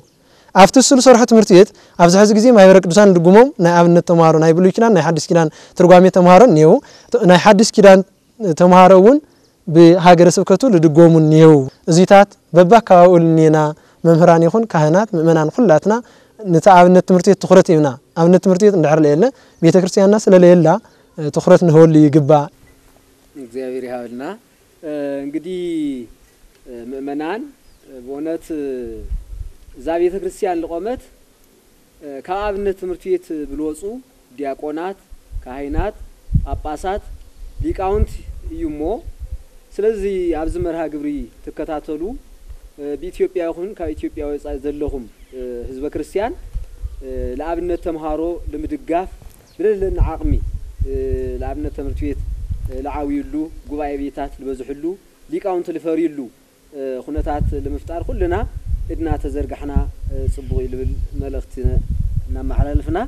ኣብቲ እሱ ዝሰርሖ ትምህርቲ ቤት ኣብዚ ሕዚ ግዜ ማሕበረ ቅዱሳን ልድጉሞም ናይ ኣብነት ተምሃሮ፣ ናይ ብሉይ ኪዳን፣ ናይ ሓዲስ ኪዳን ትርጓሜ ተምሃሮ እኒአው። ተ-፣ ናይ ሓዲስ ኪዳን ተምሃሮ እውን ብሃገረ ስብከቱ ልድጎሙ እኒአው። እዚታት በባካባቢኡ ልኒና መምህራን ይኹን ካህናት፣ ምእመናን ኩላትና ነቲ ኣብነት ትምህርቲ ቤት ትኹረት ሂብና፣ ኣብነት ትምህርቲ ቤት እንድሕር ለየለ፣ ቤተ ክርስቲያንና ስለ ለየላ፣ እ፣ ትኹረት ንህበሉ ይግባእ። እግዚኣብሔር ይሃበልና። እ፣ እንግዲህ፣ እ፣ ምእመናን፣ እ፣ በእውነት፣ እ፣ እዛ ቤተ ክርስቲያን ልቆመት፣ እ፣ ካብ ኣብነት ትምህርቲ ቤት ብልወፁ ዲያቆናት፣ ካህናት፣ ጳጳሳት፣ ሊቃውንት እዩ እሞ፣ ስለዚ ኣብዚ መርሃ ግብሪ ትከታተሉ፣ እ፣ ብኢትዮጵያ ይኹን ካብ ኢትዮጵያ ወፃኢ ዘለኹም፣ እ፣ ህዝበ ክርስቲያን፣ እ፣ ለኣብነት ተምሃሮ ንምድጋፍ ብለለና ዓቕሚ፣ እ፣ ለኣብነት ትምህርቲ ቤት፣ እ፣ ለዓብዩሉ፣ ጉባኤ ቤታት ልበዝሕሉ፣ ሊቃውንቲ ልፈርዩሉ፣ እ፣ ኩነታት ልምፍጣር ኩልና እድና ተዘርጋሕና፣ እ፣ ጽቡቕ እዩ ልብል መልእኽቲ እናመሓላልፍና።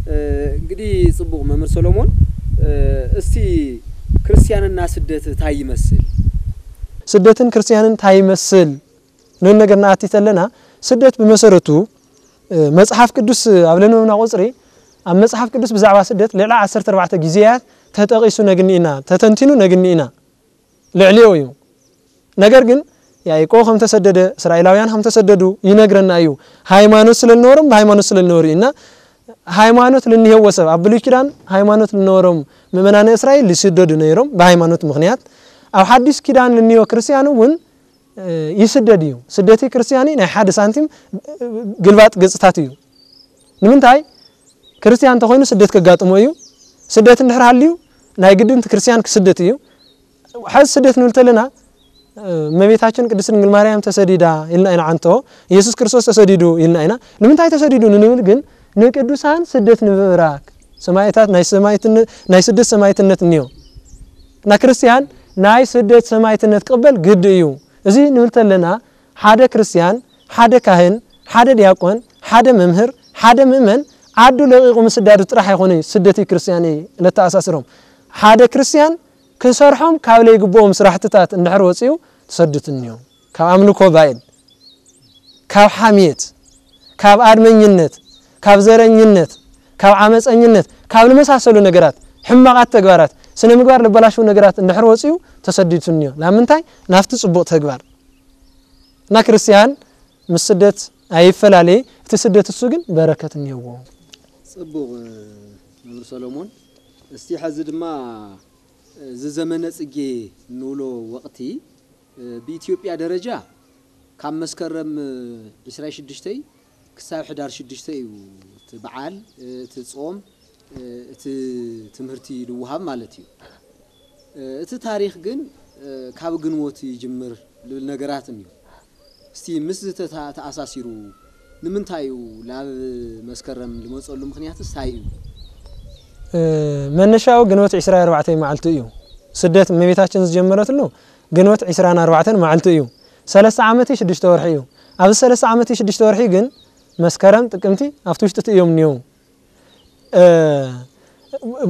እ፣ እንግዲህ ጽቡቕ መምህር ሰሎሞን፣ እ፣ እስቲ ክርስቲያንና ስደት ታይ ይመስል? ስደትን ክርስቲያንን ታይ ይመስል? ንብል ነገር ንኣቲ ተለና፣ ስደት ብመሰረቱ፣ እ፣ መጽሓፍ ቅዱስ ኣብ ለንበብና ቁጽሪ፣ ኣብ መጽሓፍ ቅዱስ ብዛዕባ ስደት ልዕሊ ዓሰርተ ኣርባዕተ ግዜያት ተጠቒሱ ነግኒ ኢና፣ ተተንቲኑ ነግኒ ኢና። ልዕሊኡ እዩ። ነገር ግን ያዕቆብ ከም ተሰደደ፣ እስራኤላውያን ከም ተሰደዱ ይነግረና እዩ። ሃይማኖት ስለ ዝነበሮም፣ ብሃይማኖት ስለ ዝነበሩ እዩ። እና ሃይማኖት ልንሄዎ ሰብ፣ ኣብ ብሉይ ኪዳን ሃይማኖት ልነበሮም ምእመናነ እስራኤል ይስደዱ ነይሮም ብሃይማኖት ምኽንያት። ኣብ ሓዲስ ኪዳን ልንዮ ክርስቲያን እውን፣ እ፣ ይስደድ እዩ። ስደቲ ክርስቲያኒ ናይ ሓደ ሳንቲም፣ እ፣ ግልባጥ ገጽታት እዩ። ንምንታይ? ክርስቲያን እንተኾይኑ ስደት ከጋጥሞ እዩ። ስደት እንድሕር ሃልዩ ናይ ግድን እቲ ክርስቲያን ክስደት እዩ። ሕዚ ስደት ንብል ተለና፣ እ፣ እመቤታችን ቅድስት ድንግል ማርያም ተሰዲዳ ኢልና ኢና ዓንቶ፣ ኢየሱስ ክርስቶስ ተሰዲዱ ኢልና ኢና። ንምንታይ ተሰዲዱ ንንብል ግን ንቅዱሳን ስደት ንምብራክ ሰማዕታት ናይ ሰማዕትነ-፣ ናይ ስደት ሰማዕትነት እኒኦ። እና ክርስቲያን ናይ ስደት ሰማዕትነት ክቕበል ግድ እዩ። እዚ ንብል ተለና ሓደ ክርስቲያን፣ ሓደ ካህን፣ ሓደ ዲያቆን፣ ሓደ መምህር፣ ሓደ ምእመን ዓዱ ለቒቑ ምስዳዱ ጥራሕ ኣይኮነይ ስደት ክርስቲያን እዩ ለተኣሳስሮም። ሓደ ክርስቲያን ክሰርሖም ካብ ለይግብኦም ስራሕትታት እንድሕር ወፂኡ ትሰድት እኒኦ። ካብ ኣምልኮ ባዕል፣ ካብ ሓምየት፣ ካብ ኣድመኝነት፣ ካብ ዘረኝነት፣ ካብ ዓመፀኝነት፣ ካብ ልመሳሰሉ ነገራት፣ ሕማቓት ተግባራት፣ ስነ ምግባር ልበላሽው ነገራት እንድሕር ወፂኡ ተሰዲቱ እኒኦ። ላምንታይ? ናብቲ ጽቡቕ ተግባር። እና ክርስቲያን ምስ ስደት ኣይፈላለየ፣ እቲ ስደት እሱ ግን በረከት እኒኦዎ። ጽቡቕ፣ መምህር ሰሎሞን። እስቲ ሐዚ ድማ እዚ ዘመነ ጽጌ እንብሎ ወቕቲ፣ ብኢትዮጵያ ደረጃ ካብ መስከረም ዒስራን ሽዱሽተን ክሳብ ሕዳር ሽዱሽተ እዩ እቲ በዓል፣ እቲ ጾም፣ እቲ ትምህርቲ ዝወሃብ ማለት እዩ። እቲ ታሪኽ ግን ካብ ግንቦት ይጅምር ልብል ነገራት እኒዩ። እስቲ ምስ ዝተታ-፣ ተኣሳሲሩ ንምንታይ እዩ ናብ መስከረም ዝመጸሉ ምኽንያት እንታይ እዩ? መነሻኡ ግንቦት ዕስራን ኣርባዕተን መዓልቲ እዩ። ስደት እመቤታችን ዝጀመረትሉ ግንቦት ዕስራን ኣርባዕተን መዓልቲ እዩ። ሰለስተ ዓመት ሽዱሽተ ወርሒ እዩ። ኣብዚ ሰለስተ ዓመት ሽዱሽተ ወርሒ ግን መስከረም፣ ጥቅምቲ ኣብቲ ውሽጢ እዮም እኒው።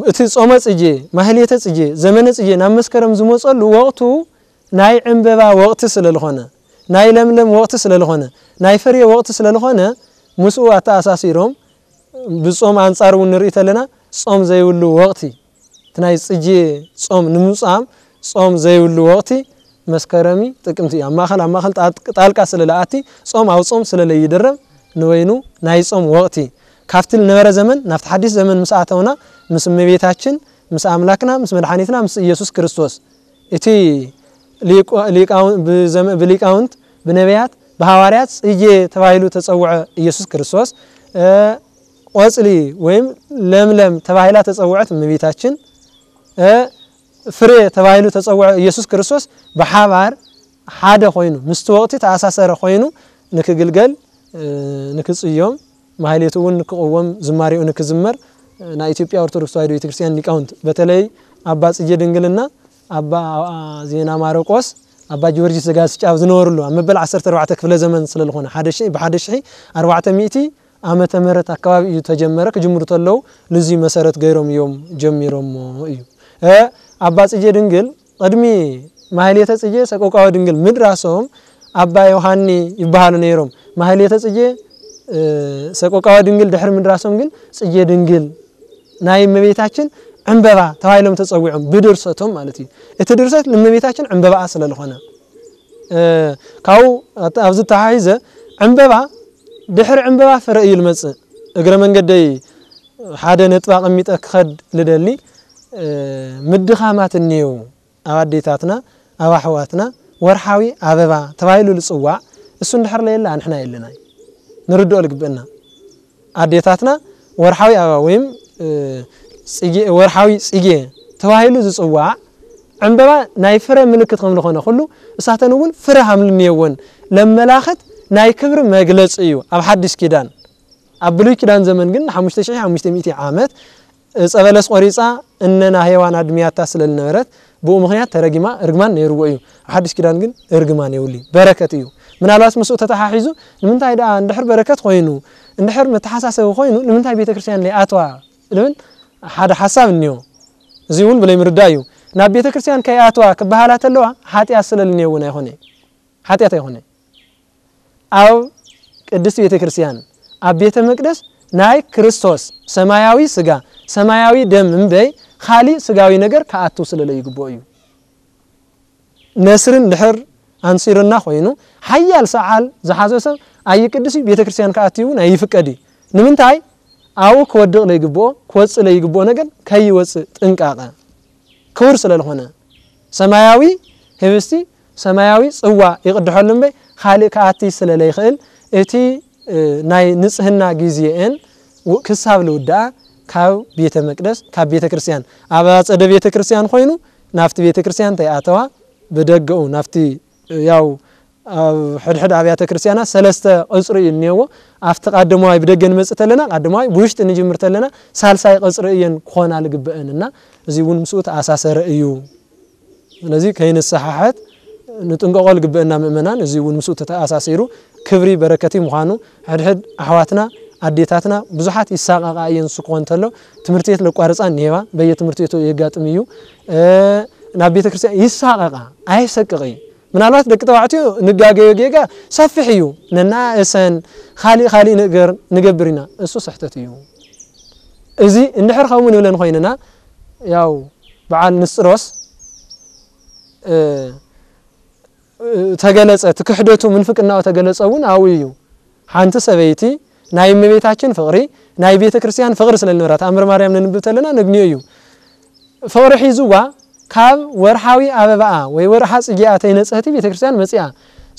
እቲ ጾመ ጽጌ፣ ማህሌተ ጽጌ፣ ዘመነ ጽጌ ናብ መስከረም ዝመጸሉ ወቕቱ ናይ ዕንበባ ወቕቲ ስለ ዝኾነ፣ ናይ ለምለም ወቕቲ ስለ ዝኾነ፣ ናይ ፍሬ ወቕቲ ስለ ዝኾነ፣ ምስኡ ኣተኣሳሲሮም ብጾም ኣንጻር እውን ንርኢ ተለና፣ ጾም ዘይብሉ ወቕቲ፣ እቲ ናይ ጽጌ ጾም ንምጻም ጾም ዘይብሉ ወቕቲ መስከረሚ ጥቅምቲ እዩ። ኣብ ማእኸል፣ ኣብ ማእኸል ጣጥ-፣ ጣልቃ ስለ ለኣቲ፣ ጾም ኣብ ጾም ስለ ለይድረብ፣ ንበይኑ ናይ ጾም ወቕቲ ካብቲ ዝነበረ ዘመን ናብቲ ሓዲስ ዘመን ምስ ኣተውና፣ ምስ እመቤታችን፣ ምስ ኣምላክና፣ ምስ መድሓኒትና፣ ምስ ኢየሱስ ክርስቶስ፣ እቲ ሊቆ-፣ ሊቃውን-፣ ብዘመ-፣ ብሊቃውንት፣ ብነቢያት፣ ብሃዋርያት ጽጌ ተባሂሉ ተጸውዐ ኢየሱስ ክርስቶስ፣ እ፣ ቆጽሊ ወይም ለምለም ተባሂላ ተጸውዐት እመቤታችን፣ እ፣ ፍሬ ተባሂሉ ተጸውዐ ኢየሱስ ክርስቶስ ብሓባር ሓደ ኮይኑ፣ ምስቲ ወቕቲ ተኣሳሰረ ኮይኑ ንክግልገል፣ እ፣ ንክጽዮም፣ ማህሌቱ እውን ንክቕወም፣ ዝማሬኡ ንክዝመር፣ እ፣ ናይ ኢትዮጵያ ኦርቶዶክስ ተዋሕዶ ቤተክርስትያን ሊቃውንት፣ በተለይ ኣባ ጽጌ ድንግልና፣ ኣባ ዜና ማርቆስ፣ ኣባ ጊዮርጊስ ዘጋስጫ ኣብ ዝነበሩሉ፣ ኣብ መበል ዓሰርተ ኣርባዕተ ክፍለ ዘመን ስለ ዝኾነ፣ ሓደ ሺ፣ ብሓደ ሺ ኣርባዕተ ሚእቲ ዓመተ ምህረት ኣካባቢ እዩ ተጀመረ። ክጅምሩ ተለዉ ልዙይ መሰረት ገይሮም እዮም ጀሚሮሞ እዩ። እ፣ ኣባ ጽጌ ድንግል ቅድሚ ማህሌተ ጽጌ ሰቆቃወ ድንግል ምድራሶም ኣባ ዮሃኒ ይበሃሉ ነይሮም። ማህሌተ ጽጌ፣ እ፣ ሰቆቃወ ድንግል ድሕሪ ምድራሶም ግን ጽጌ ድንግል ናይ እመቤታችን ዕንበባ ተባሂሎም ተጸዊዖም ብድርሰቶም ማለት እዩ። እቲ ድርሰት ንእመቤታችን ዕንበባኣ ስለ ዝኾነ፣ እ፣ ካብኡ ኣት-፣ ኣብዚ ተሓሒዘ ዕንበባ ድሕሪ ዕንበባ ፍረ እዩ ልመጽእ። እግረ መንገደይ ሓደ ነጥቢ ኣቐሚጠ ክኸድ ልደሊ፣ እ፣ ምድኻማት እኒየው ኣብ ኣዴታትና፣ ኣብ ኣሕዋትና ወርሓዊ ኣበባ ተባሂሉ ልጽዋዕ፣ እሱ እንድሕር ለየለ ኣንሕና የለናይ። ንርድኦ ልግበአና። ኣዴታትና ወርሓዊ ኣበባ ወይም፣ እ፣ ጽጌ፣ ወርሓዊ ጽጌ ተባሂሉ ዝጽዋዕ ዕንበባ ናይ ፍረ ምልክት ከም ዝኾነ ኩሉ፣ እሳተን እውን ፍረ ሃምሊ እኒየወን ለመላኽት ናይ ክብሪ መግለጺ እዩ ኣብ ሓድሽ ኪዳን። ኣብ ብሉይ ኪዳን ዘመን ግን ንሓሙሽተ ሽሕ ሓሙሽተ ሚእቲ ዓመት ዕፀ በለስ ቆሪፃ እነና ሄዋን ኣድምያታ ስለ ዝነበረት ብኡ ምኽንያት ተረጊማ እርግማን ነይርዎ እዩ። ኣብ ሓድሽ ኪዳን ግን እርግማን የብሉ፣ በረከት እዩ። ምናልባት ምስኡ ተተሓሒዙ ንምንታይ ደኣ እንድሕር በረከት ኮይኑ፣ እንድሕር መተሓሳሰቢ ኮይኑ ንምንታይ ቤተክርስትያን ዘይኣትዋ ዝብል ሓደ ሓሳብ እኒኦ። እዚ እውን ብለይ ምርዳእ እዩ። ናብ ቤተክርስትያን ከይኣትዋ ክበሃላ ተለዋ ሓጢኣት ስለ ዝኒኦ እውን ኣይኮነ፣ ሓጢኣት ኣይኮነ። ኣብ ቅድስት ቤተ ክርስቲያን ኣብ ቤተ መቅደስ ናይ ክርስቶስ ሰማያዊ ስጋ ሰማያዊ ደም እምበይ ካሊእ ስጋዊ ነገር ክኣቱ ስለ ለይግብኦ እዩ። ነስርን ድሕር ኣንሲርና ኮይኑ ሓያል ሰዓል ዝሓዞ ሰብ ኣይቅድስ እዩ፣ ቤተ ክርስቲያን ክኣቱ እውን ኣይፍቀድ እዩ። ንምንታይ? ኣብኡ ክወድቕ ለይግብኦ፣ ክወፅእ ለይግብኦ ነገር ከይወፅእ ጥንቃቐ ክቡር ስለ ዝኾነ ሰማያዊ ህብስቲ ሰማያዊ ጽዋ ይቕድሐሉ እምበይ ካልእ ክኣቲ ስለ ለይኽእል እቲ፣ እ፣ ናይ ንጽህና ግዜኤን ው-፣ ክሳብ ልውድኣ ካብ ቤተ መቅደስ፣ ካብ ቤተ ክርስቲያን፣ ኣብ ኣጸደ ቤተ ክርስቲያን ኮይኑ ናብቲ ቤተ ክርስቲያን እንተይኣተዋ ብደገኡ ናብቲ፣ እ፣ ያው ኣብ ሕድሕድ ኣብያተ ክርስቲያናት ሰለስተ ቅጽሪ እዩ እኒሄዎ። ኣብቲ ቃደማዋይ ብደገ ንመጽእ ተለና፣ ቃደማዋይ ብውሽጢ ንጅምር ተለና ሳልሳይ ቅጽሪ እየን ክኾና ልግበአን እና እዚ እውን ምስኡ ተኣሳሰረ እዩ። ስለዚ ከይንሰሓሐት ንጥንቀቆ ልግበአና ምእመናን። እዚ እውን ምስኡ ተተኣሳሲሩ ክብሪ በረከት እዩ ምዃኑ ሕድሕድ ኣሕዋትና ኣዴታትና ብዙሓት ይሳቀቃ እየን። ንሱ ክኾን እንተሎ ትምህርቲ ቤት ለቋርፃ እኒሄዋ፣ በየ ትምህርቲ ቤቱ የጋጥም እዩ። እ፣ ናብ ቤተ ክርስቲያን ይሳቀቃ፣ ኣይሰቅቅ እዩ። ምናልባት ደቂ ተባዕትዮ ንጋገዮ ጌጋ ሰፊሕ እዩ። ነናእሰን ካሊእ ካሊእ ነገር ንገብር ኢና። እሱ ስሕተት እዩ። እዚ እንድሕር ከምኡ ንብለን ኮይንና፣ ያው በዓል ንስጥሮስ፣ እ፣ እ፣ ተገለጸ፣ እቲ ክሕደቱ ምንፍቅናኡ ተገለጸ እውን ኣብኡ እዩ። ሓንቲ ሰበይቲ ናይ እመቤታችን ፍቕሪ፣ ናይ ቤተ ክርስቲያን ፍቕሪ ስለ ዝነበራ፣ ተኣምር ማርያም ነንብብ ተለና ነግንዮ እዩ። ፍቕሪ ሒዝዋ ካብ ወርሓዊ ኣበባኣ ወይ ወርሓ ጽጌኣ ተይነጽህቲ ቤተ ክርስቲያን መጺኣ።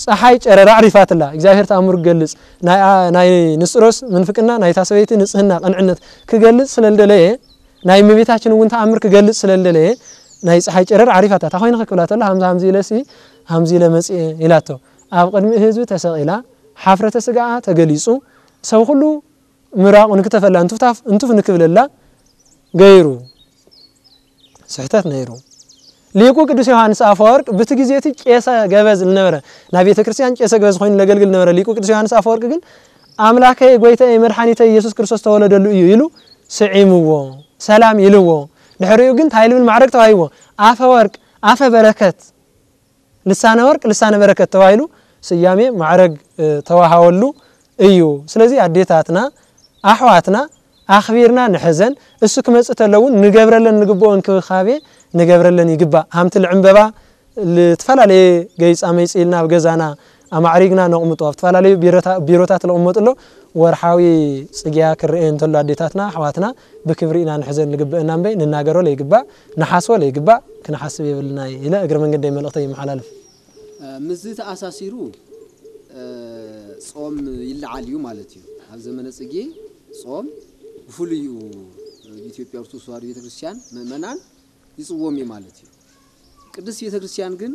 ፀሓይ ጨረራ ኣዕሪፋትላ እግዚኣብሔር ተኣምሩ ክገልጽ ናይ፣ ናይ ንስጥሮስ ምንፍቅና ናይታ ሰበይቲ ንጽህና ቅንዕነት ክገልጽ ስለልደለየ ናይ እመቤታችን እውን ተኣምር ክገልጽ ስለልደለየ ናይ ፀሓይ ጨረር ኣዕሪፋታ። ታኾይንኸ ክብላ ተሎ ሃምዚ ሃምዚ ኢለሲ ሃምዚ ኢለ መጽኤ ኢላቶ። ኣብ ቅድሚ ህዝቢ ተሰቒላ ሓፍረተ ስጋኣ ተገሊጹ ሰብ ኩሉ ምራቑ ንክተፈላ እንትፍታፍ እንትፍ ንክብለላ ገይሩ ስሕተት ነይሩ። ሊቁ ቅዱስ ዮሃንስ ኣፈወርቅ ብቲ ግዜ እቲ ቄሰ ገበዝ ዝነበረ ናይ ቤተ ክርስቲያን ቄሰ ገበዝ ኮይኑ ለገልግል ነበረ። ሊቁ ቅዱስ ዮሃንስ ኣፈወርቅ ግን ኣምላከይ ጎይታዬ መድሓኒተይ ኢየሱስ ክርስቶስ ተወለደሉ እዩ ኢሉ ስዒምዎ ሰላም ኢልዎ። ድሕሪኡ ግን ታይ ልብል ማዕረግ ተዋሂብዎ? ኣፈ ወርቅ ኣፈ በረከት ልሳነ ወርቅ ልሳነ በረከት ተባሂሉ ስያሜ ማዕረግ ተዋሃወሉ እዩ። ስለዚህ ኣዴታትና ኣሕዋትና ኣኽቢርና ንሕዘን። እሱ ክመጽእ ተለውን ንገብረለን ንግብኦ እንክብካቤ ንገብረለን ይግባእ። ሃምቲ ልዕምበባ ልትፈላለየ ገይጻ መይጽ ኢልና ኣብ ገዛና ኣማዕሪግና ነቕምጦ ኣብ ዝተፈላለዩ ቢሮታት ለቕመጥሎ ወርሓዊ ጽግያ ክርኤ እንተሎ ኣዴታትና ኣሕዋትና ብክብሪ ኢና ንሕዘን ንግብእና እምበይ ንናገሮ ለይግባእ ንሓስቦ ለይግባእ ክንሓስብ የብልና ኢለ እግረ መንገደይ መልእኽተይ ይመሓላልፍ። ምስዚ ተኣሳሲሩ ጾም ይለዓል እዩ ማለት እዩ። ኣብ ዘመነ ጽጌ ጾም ብፍሉይ እዩ ብኢትዮጵያ ኦርቶዶክስ ተዋህዶ ቤተክርስትያን ምእመናን ይጽዎም እዩ ማለት እዩ። ቅድስት ቤተክርስትያን ግን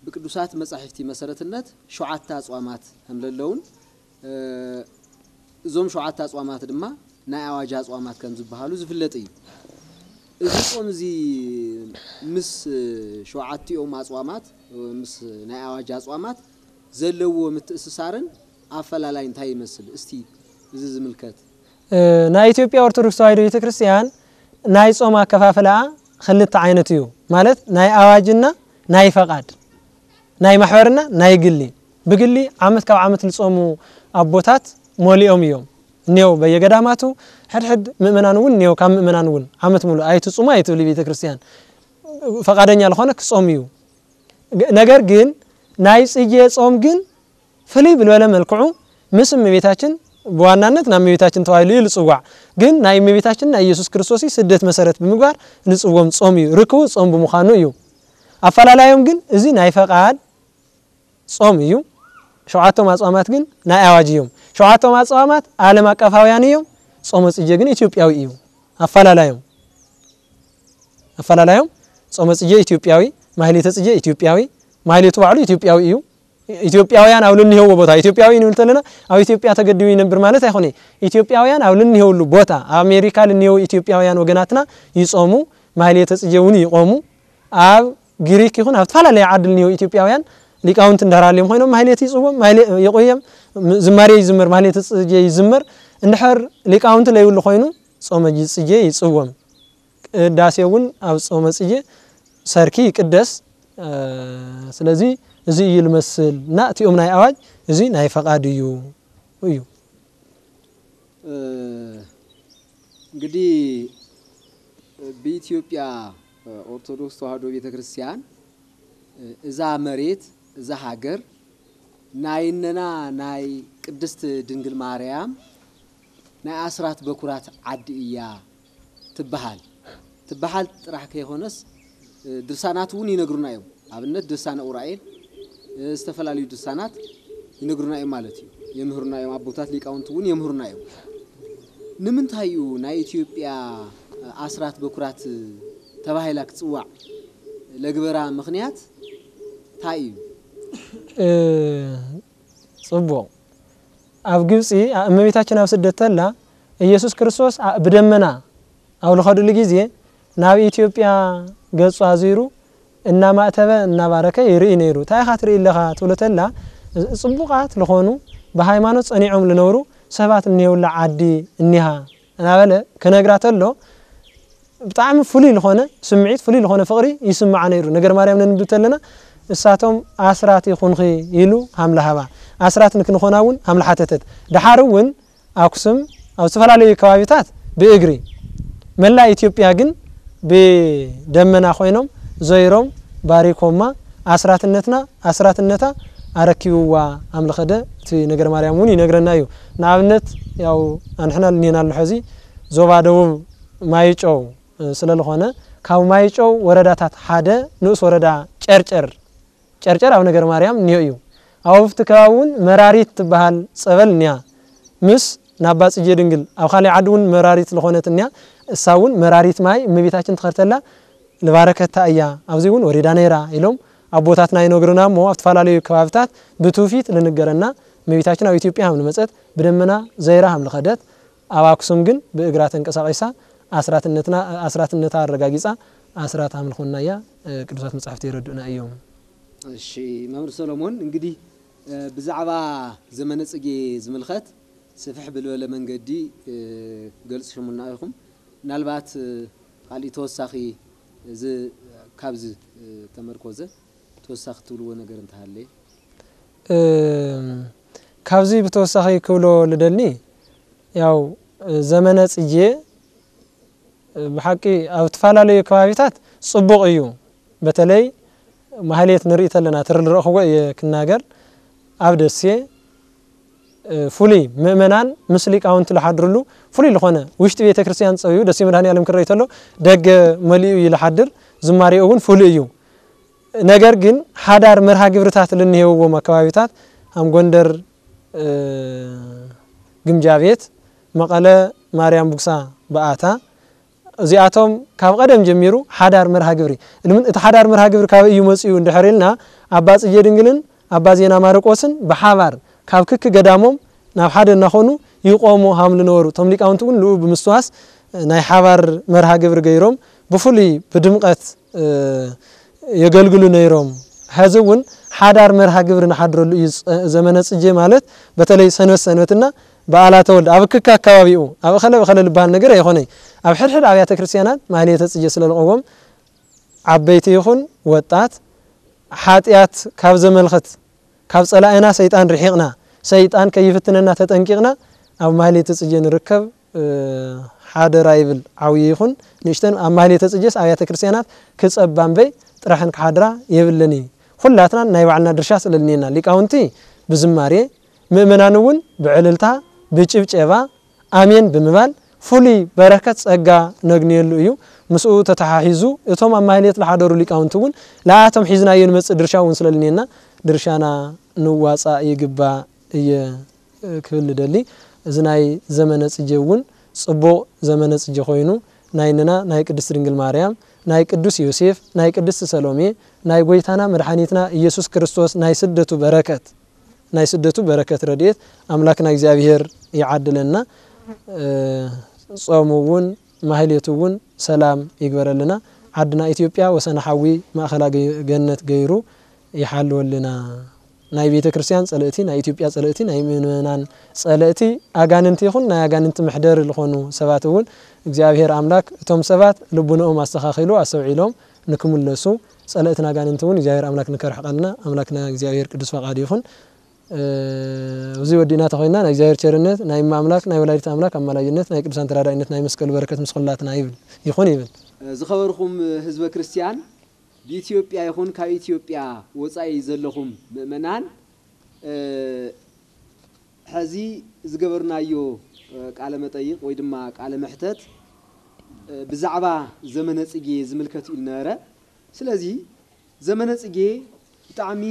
ብቅዱሳት መጻሕፍቲ መሰረትነት ሸውዓተ ኣጽዋማት ከም ዘለውን እዞም ሸውዓተ ኣጽዋማት ድማ ናይ ኣዋጅ ኣጽዋማት ከም ዝበሃሉ ዝፍለጥ እዩ። እዚ ጾም እዚ ምስ ሸውዓቲኦም ኣጽዋማት ምስ ናይ ኣዋጅ ኣጽዋማት ዘለዎ ምትእስሳርን ኣፈላላይ እንታይ ይመስል? እስቲ እዚ ዝምልከት። ናይ ኢትዮጵያ ኦርቶዶክስ ተዋህዶ ቤተክርስትያን ናይ ጾም ኣከፋፍላኣ ክልተ ዓይነት እዩ። ማለት ናይ ኣዋጅና ናይ ፈቓድ፣ ናይ ማሕበርና ናይ ግሊ። ብግሊ ዓመት ካብ ዓመት ልጾሙ ኣቦታት ሞሊኦም እዮም። እኔው በየገዳማቱ ሕድሕድ ምእመናን እውን እኔው ካብ ምእመናን እውን ዓመት ሙሉ ኣይትጹሙ ኣይትብል ቤተክርስትያን። ፈቓደኛ ልኾነ ክጾም እዩ። ነገር ግን ናይ ጽጌ ጾም ግን ፍልይ ብልበለ መልክዑ ምስ እመቤታችን ብዋናነት ናብ እመቤታችን ተባሂሉ እዩ ልጽዋዕ። ግን ናይ እመቤታችን ናይ ኢየሱስ ክርስቶስ ስደት መሰረት ብምግባር ልጽዎም ጾም እዩ። ርክቡ ጾም ብምዃኑ እዩ። ኣፈላላዮም ግን እዚ ናይ ፈቓድ ጾም እዩ። ሸውዓቶም ኣጽዋማት ግን ናይ ኣዋጅ እዮም። ሸውዓቶም ኣጽዋማት ዓለም ኣቀፋውያን እዮም። ጾመ ጽጌ ግን ኢትዮጵያዊ እዩ። ኣፈላላዮም ኣፈላላዮም ጾመ ጽጌ ኢትዮጵያዊ፣ ማህሌተ ጽጌ ኢትዮጵያዊ፣ ማህሌቱ ባዕሉ ኢትዮጵያዊ እዩ። ኢትዮጵያውያን ኣብ ልንሄዎ ቦታ ኢትዮጵያዊ ንብል ተለና ኣብ ኢትዮጵያ ተገዲቡ ይነብር ማለት ኣይኮነ። ኢትዮጵያውያን ኣብ ልንሄውሉ ቦታ ኣብ ኣሜሪካ ልንሄው ኢትዮጵያውያን ወገናትና ይጾሙ፣ ማህሌተ ጽጌ እውን ይቆሙ። ኣብ ግሪክ ይኹን ኣብ ተፈላለየ ዓዲ ልንሄው ኢትዮጵያውያን ሊቃውንቲ እንዳራልዮም ኮይኖም ማህሌት ይጽዎም፣ ማህሌ-፣ ይቆየም፣ ም-፣ ዝማሬ ይዝመር፣ ማህሌተ ጽጌ ይዝመር። እንድሕር ሊቃውንቲ ለይብሉ ኮይኑ ጾመ ጽጌ ይጽዎም። ቅዳሴ እውን ኣብ ጾመ ጽጌ ሰርኪ ይቅደስ። ስለዚ እዚ እዩ ልመስል እና እቲኦም ናይ ኣዋጅ እዚ ናይ ፈቓድ እዩ እዩ። እንግዲህ ብኢትዮጵያ ኦርቶዶክስ ተዋህዶ ቤተክርስቲያን እዛ መሬት እዛ ሃገር ናይ እነና ናይ ቅድስት ድንግል ማርያም ናይ ኣስራት በኩራት ዓዲ እያ ትበሃል። ትበሃል ጥራሕ ከይኾነስ ድርሳናት እውን ይነግሩና እዮም። ኣብነት ድርሳነ ኡራኤል ዝተፈላለዩ ድርሳናት ይነግሩና እዮም ማለት እዩ። የምህሩና እዮም ኣቦታት ሊቃውንቲ እውን የምህሩና እዮም። ንምንታይ እዩ ናይ ኢትዮጵያ ኣስራት በኩራት ተባሂላ ክትፅዋዕ ለግበራ ምኽንያት እንታይ እዩ? ጽቡቕ። ኣብ ግብጺ እመቤታችን ኣብ ስደት ተላ ኢየሱስ ክርስቶስ ብደመና ኣብ ልኸድሉ ግዜ ናብ ኢትዮጵያ ገጹ ኣዙሩ እናማእተበ እናባረከ ይርኢ ነይሩ። እንታይ ኢኻ ትርኢ ኣለኻ ትብሎ ተላ ጽቡቓት ልኾኑ ብሃይማኖት ጸኒዖም ልነብሩ ሰባት እኒሄውላ ዓዲ እኒሃ እናበለ ክነግራ ተሎ ብጣዕሚ ፍሉይ ልኾነ ስምዒት ፍሉይ ልኾነ ፍቕሪ ይስምዓ ነይሩ። ነገር ማርያም ነንብብ ተለና እሳቶም ኣስራት ይኹንኺ ኢሉ ሃምለ ሃባ ኣስራት ንክንኾና እውን ሃምለ ሓተተት። ደሓር እውን ኣኩስም ኣብ ዝተፈላለዩ ከባቢታት ብእግሪ መላእ ኢትዮጵያ ግን ብደመና ኮይኖም ዞይሮም ባሪኮማ ኣስራትነትና ኣስራትነታ ኣረኪብዋ ኣምልኸደ እቲ ነገር ማርያም እውን ይነግረና እዩ። ንኣብነት ያው ኣንሕና ልኒና ኣሎ ሕዚ ዞባ ደቡብ ማይጨው ስለልኾነ ካብ ማይጨው ወረዳታት ሓደ ንኡስ ወረዳ ጨርጨር ጨርጨር ኣብ ነገር ማርያም እኒኦ እዩ። ኣብ ኣብቲ ከባቢ እውን መራሪት ትበሃል ጸበል እኒያ። ምስ ናባ ጽጌ ድንግል ኣብ ካልእ ዓዲ እውን መራሪት ዝኾነት እኒያ። እሳ እውን መራሪት ማይ እመቤታችን ትኸርተላ ልባረከታ እያ፣ ኣብዚ እውን ወሪዳ ነይራ ኢሎም ኣቦታትና ይነግሩና። እሞ ኣብ ዝተፈላለዩ ከባብታት ብትውፊት ልንገረና እመቤታችን ኣብ ኢትዮጵያ ከም ልመጸት፣ ብደመና ዘይራ ከም ልኸደት፣ ኣብ ኣክሱም ግን ብእግራ ተንቀሳቒሳ ኣስራትነትና ኣስራትነታ ኣረጋጊጻ ኣስራት ኣምልኾና እያ። ቅዱሳት መጻሕፍቲ የረድኡና እዮም። እሺ፣ መምህር ሰሎሞን፣ እንግዲህ ብዛዕባ ዘመነ ጽጌ ዝምልኸት ስፍሕ ብልበለ መንገዲ ገልጽሽሙና ኢኹም። ምናልባት ካሊእ ተወሳኺ እዚ ካብዚ ተመርኮዘ ተወሳኺ ትብልዎ ነገር እንተሃለየ? እም፣ ካብዚ ብተወሳኺ ክብሎ ልደሊ፣ ያው ዘመነ ጽጌ ብሓቂ ኣብ ዝተፈላለዩ ከባቢታት ጽቡቕ እዩ። በተለይ ማህሌት ንርኢ ተለና፣ ትርል ረእኽዎ እየ ክናገር። ኣብ ደሴ ፍሉይ ምእመናን ምስ ሊቃውንቲ ልሓድርሉ ፍሉይ ልኾነ ውሽጢ ቤተ ክርስቲያን ጸውዩ ደሴ መድኃኔ ዓለም ክረይ ተሎ ደገ መሊኡ እዩ ልሓድር። ዝማሬኡ እውን ፍሉይ እዩ። ነገር ግን ሓዳር መርሃ ግብርታት ልንሄውዎም ኣከባቢታት ከም ጎንደር ግምጃ ቤት፣ መቐለ ማርያም ቡግሳ በኣታ፣ እዚኣቶም ካብ ቀደም ጀሚሩ ሓዳር መርሃ ግብሪ እልምን እቲ ሓዳር መርሃ ግብሪ ካበይ እዩ መጺኡ እንድሕር ኢልና ኣባ ጽጌ ድንግልን ኣባ ዜና ማርቆስን ብሓባር ካብ ክክ ገዳሞም ናብ ሓደ እናኾኑ ይቆሙ ሃም ልነበሩ እቶም ሊቃውንቲ እውን ልኡ ብምስትዋስ ናይ ሓባር መርሃ ግብሪ ገይሮም ብፍሉይ ብድምቀት የገልግሉ ነይሮም። ሐዚ እውን ሓዳር መርሃ ግብሪ ንሓድረሉ እዩ። ዘመነ ጽጌ ማለት በተለይ ሰንበት ሰንበትና በዓላተ ወልድ ኣብ ክክ ኣካባቢኡ ኣብ እኸለ ብኸለ ልበሃል ነገር ኣይኾነይ። ኣብ ሕድሕድ ኣብያተ ክርስቲያናት ማህሌተ ጽጌ ስለልቐዎም ዓበይቲ ይኹን ወጣት ሓጢኣት ካብ ዘመልኽት ካብ ጸላእና ሰይጣን ርሒቕና ሰይጣን ከይፍትነና ተጠንቂቕና ኣብ ማህሌተ ጽጌ ንርከብ። ሓደራ ይብል። ዓብዪ ይኹን ንእሽተን ኣብ ማህሌተ ጽጌስ ኣብያተ ክርስቲያናት ክጸባ እምበይ ጥራሕን ክሓድራ የብለን እዩ። ኩላትና ናይ ባዕልና ድርሻ ስለልኔና ሊቃውንቲ ብዝማሬ ምእመናን እውን ብዕልልታ ብጭብጨባ ኣሜን ብምባል ፍሉይ በረከት ጸጋ ነግንየሉ እዩ። ምስኡ ተተሓሒዙ እቶም ኣብ ማህሌት ዝሓደሩ ሊቃውንቲ እውን ለኣቶም ሒዝናዮ ንመጽእ ድርሻ እውን ስለልኔና ድርሻና ንዋጻእ ይግባእ እየ ክብል ንደሊ። እዚ ናይ ዘመነ ጽጌ እውን ጽቡቕ ዘመነ ጽጌ ኮይኑ ናይንና ናይ ቅድስት ድንግል ማርያም ናይ ቅዱስ ዮሴፍ ናይ ቅድስት ሰሎሜ ናይ ጎይታና መድሓኒትና ኢየሱስ ክርስቶስ ናይ ስደቱ በረከት ናይ ስደቱ በረከት ረድኤት ኣምላክና እግዚኣብሔር ይዓድለና። ጾሙ እውን ማህሌቱ እውን ሰላም ይግበረልና። ዓድና ኢትዮጵያ ወሰነ ሓዊ ማእኸላ ገነት ገይሩ ይሓልወልና። ናይ ቤተ ክርስቲያን ጸለእቲ ናይ ኢትዮጵያ ጸለእቲ ናይ ምእመናን ጸለእቲ ኣጋንንቲ ይኹን ናይ ኣጋንንቲ መሕደሪ ዝኾኑ ሰባት እውን እግዚኣብሔር ኣምላክ እቶም ሰባት ልቡንኦም ኣስተኻኺሉ ኣስተውዒሎም ንክምለሱ ጸለእትን ኣጋንንቲ እውን እግዚኣብሔር ኣምላክ ንከርሕቀልና ኣምላክና እግዚኣብሔር ቅዱስ ፈቃዱ ይኹን። እዚ ወዲእና ተኾይና ናይ እግዚኣብሔር ቸርነት ናይ እመ ኣምላክ ናይ ወላዲት ኣምላክ ኣማላጅነት ናይ ቅዱሳን ተራዳኢነት ናይ መስቀሉ በረከት ምስ ኩላትና ይብል ይኹን ይብል። ዝኸበርኩም ህዝበ ክርስቲያን ብኢትዮጵያ ይኹን ካብ ኢትዮጵያ ወፃኢ ዘለኹም ምእመናን ሐዚ ዝገበርናዮ ቃለ መጠይቕ ወይ ድማ ቃለ መሕተት ብዛዕባ ዘመነ ፅጌ ዝምልከት እዩ ነበረ። ስለዚ ዘመነ ፅጌ ብጣዕሚ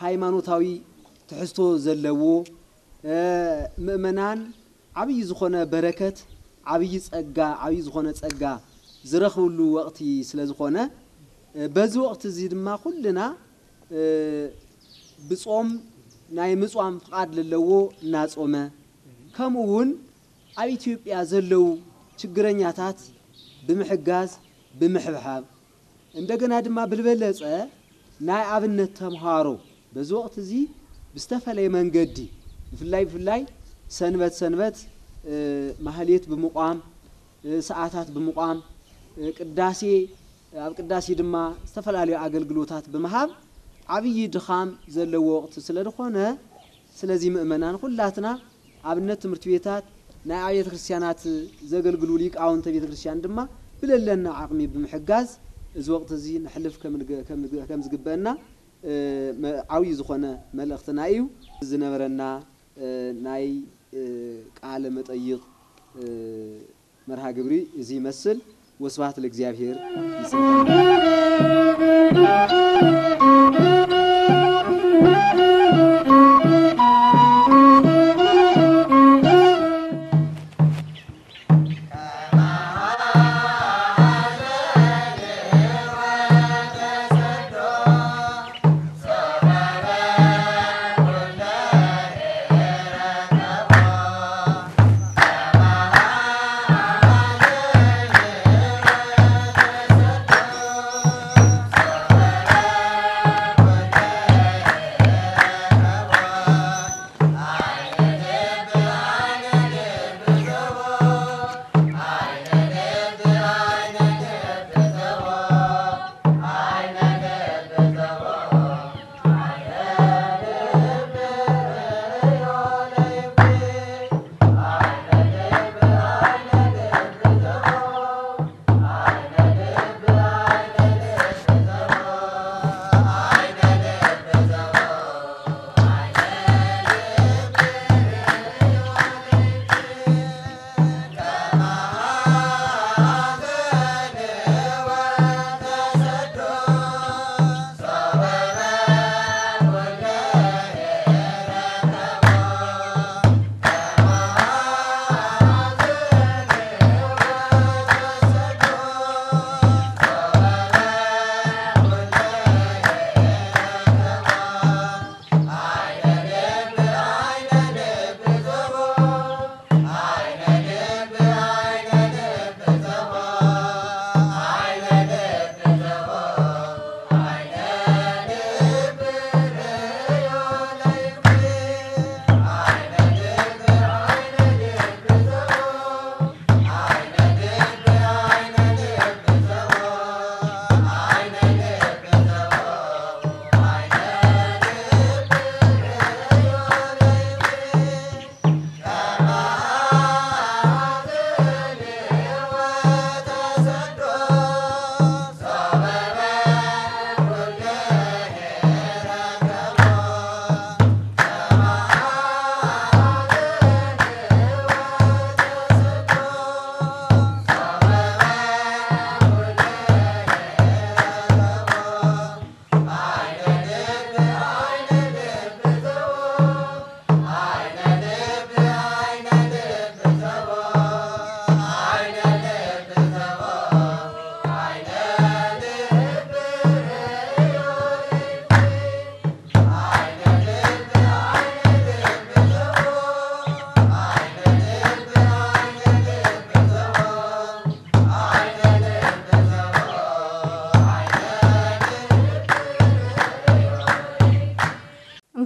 ሃይማኖታዊ ትሕዝቶ ዘለዎ ምእመናን ዓብዪ ዝኾነ በረከት ዓብዪ ፀጋ ዓብዪ ዝኾነ ፀጋ ዝረኽብሉ ወቕቲ ስለ ዝኾነ በዚ ወቕቲ እዚ ድማ ኩልና ብጾም ናይ ምጽዋም ፍቓድ ለለዎ እናጾመ ከምኡ እውን ኣብ ኢትዮጵያ ዘለዉ ችግረኛታት ብምሕጋዝ ብምሕብሓብ እንደገና ድማ ብልበለጸ ናይ ኣብነት ተምሃሮ በዚ ወቕቲ እዚ ብዝተፈለየ መንገዲ ብፍላይ ብፍላይ ሰንበት ሰንበት ማህሌት ብምቋም ሰዓታት ብምቋም ቅዳሴ ኣብ ቅዳሴ ድማ ዝተፈላለዩ ኣገልግሎታት ብምሃብ ዓብዪ ድኻም ዘለዎ ወቕቲ ስለ ዝኾነ ስለዚ ምእመናን ኩላትና ኣብነት ትምህርቲ ቤታት ናይ ኣብያተ ክርስቲያናት ዘገልግሉ ሊቃውንተ ቤተ ክርስቲያን ድማ ብለለና ዓቕሚ ብምሕጋዝ እዚ ወቕቲ እዚ ንሕልፍ ከም ዝግበአና ዓብዪ ዝኾነ መልእኽትና እዩ ዝነበረና ናይ ቃለ መጠይቕ መርሃ ግብሪ እዚ ይመስል። ወስብሐት ለእግዚኣብሔር። ይጽንሐና።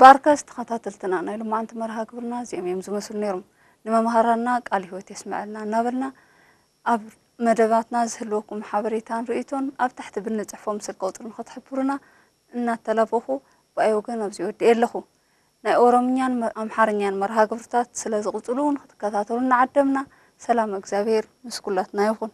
ባርከስ ተኸታተልትና፣ ናይ ሎማዓንቲ መርሃ ግብርና እዚኦም እዮም ዝመስሉ ነይሮም። ንመምሃራንና ቃል ህይወት የስምዐልና እናበልና፣ ኣብ መደባትና ዝህልወኩም ሓበሬታን ርእይቶን ኣብ ታሕቲ ብንጽሕፎ ምስል ቀውጥሪ ንኽትሕብሩና እናተላበኹ፣ ብኣይ ወገን ኣብዚ ወዲኤ ኣለኹ። ናይ ኦሮምኛን መ-፣ ኣምሓርኛን መርሃ ግብርታት ስለ ዝቕጽሉ እውን ክትከታተሉ እናዓደምና፣ ሰላም እግዚኣብሔር ምስ ኩላትና ይኹን።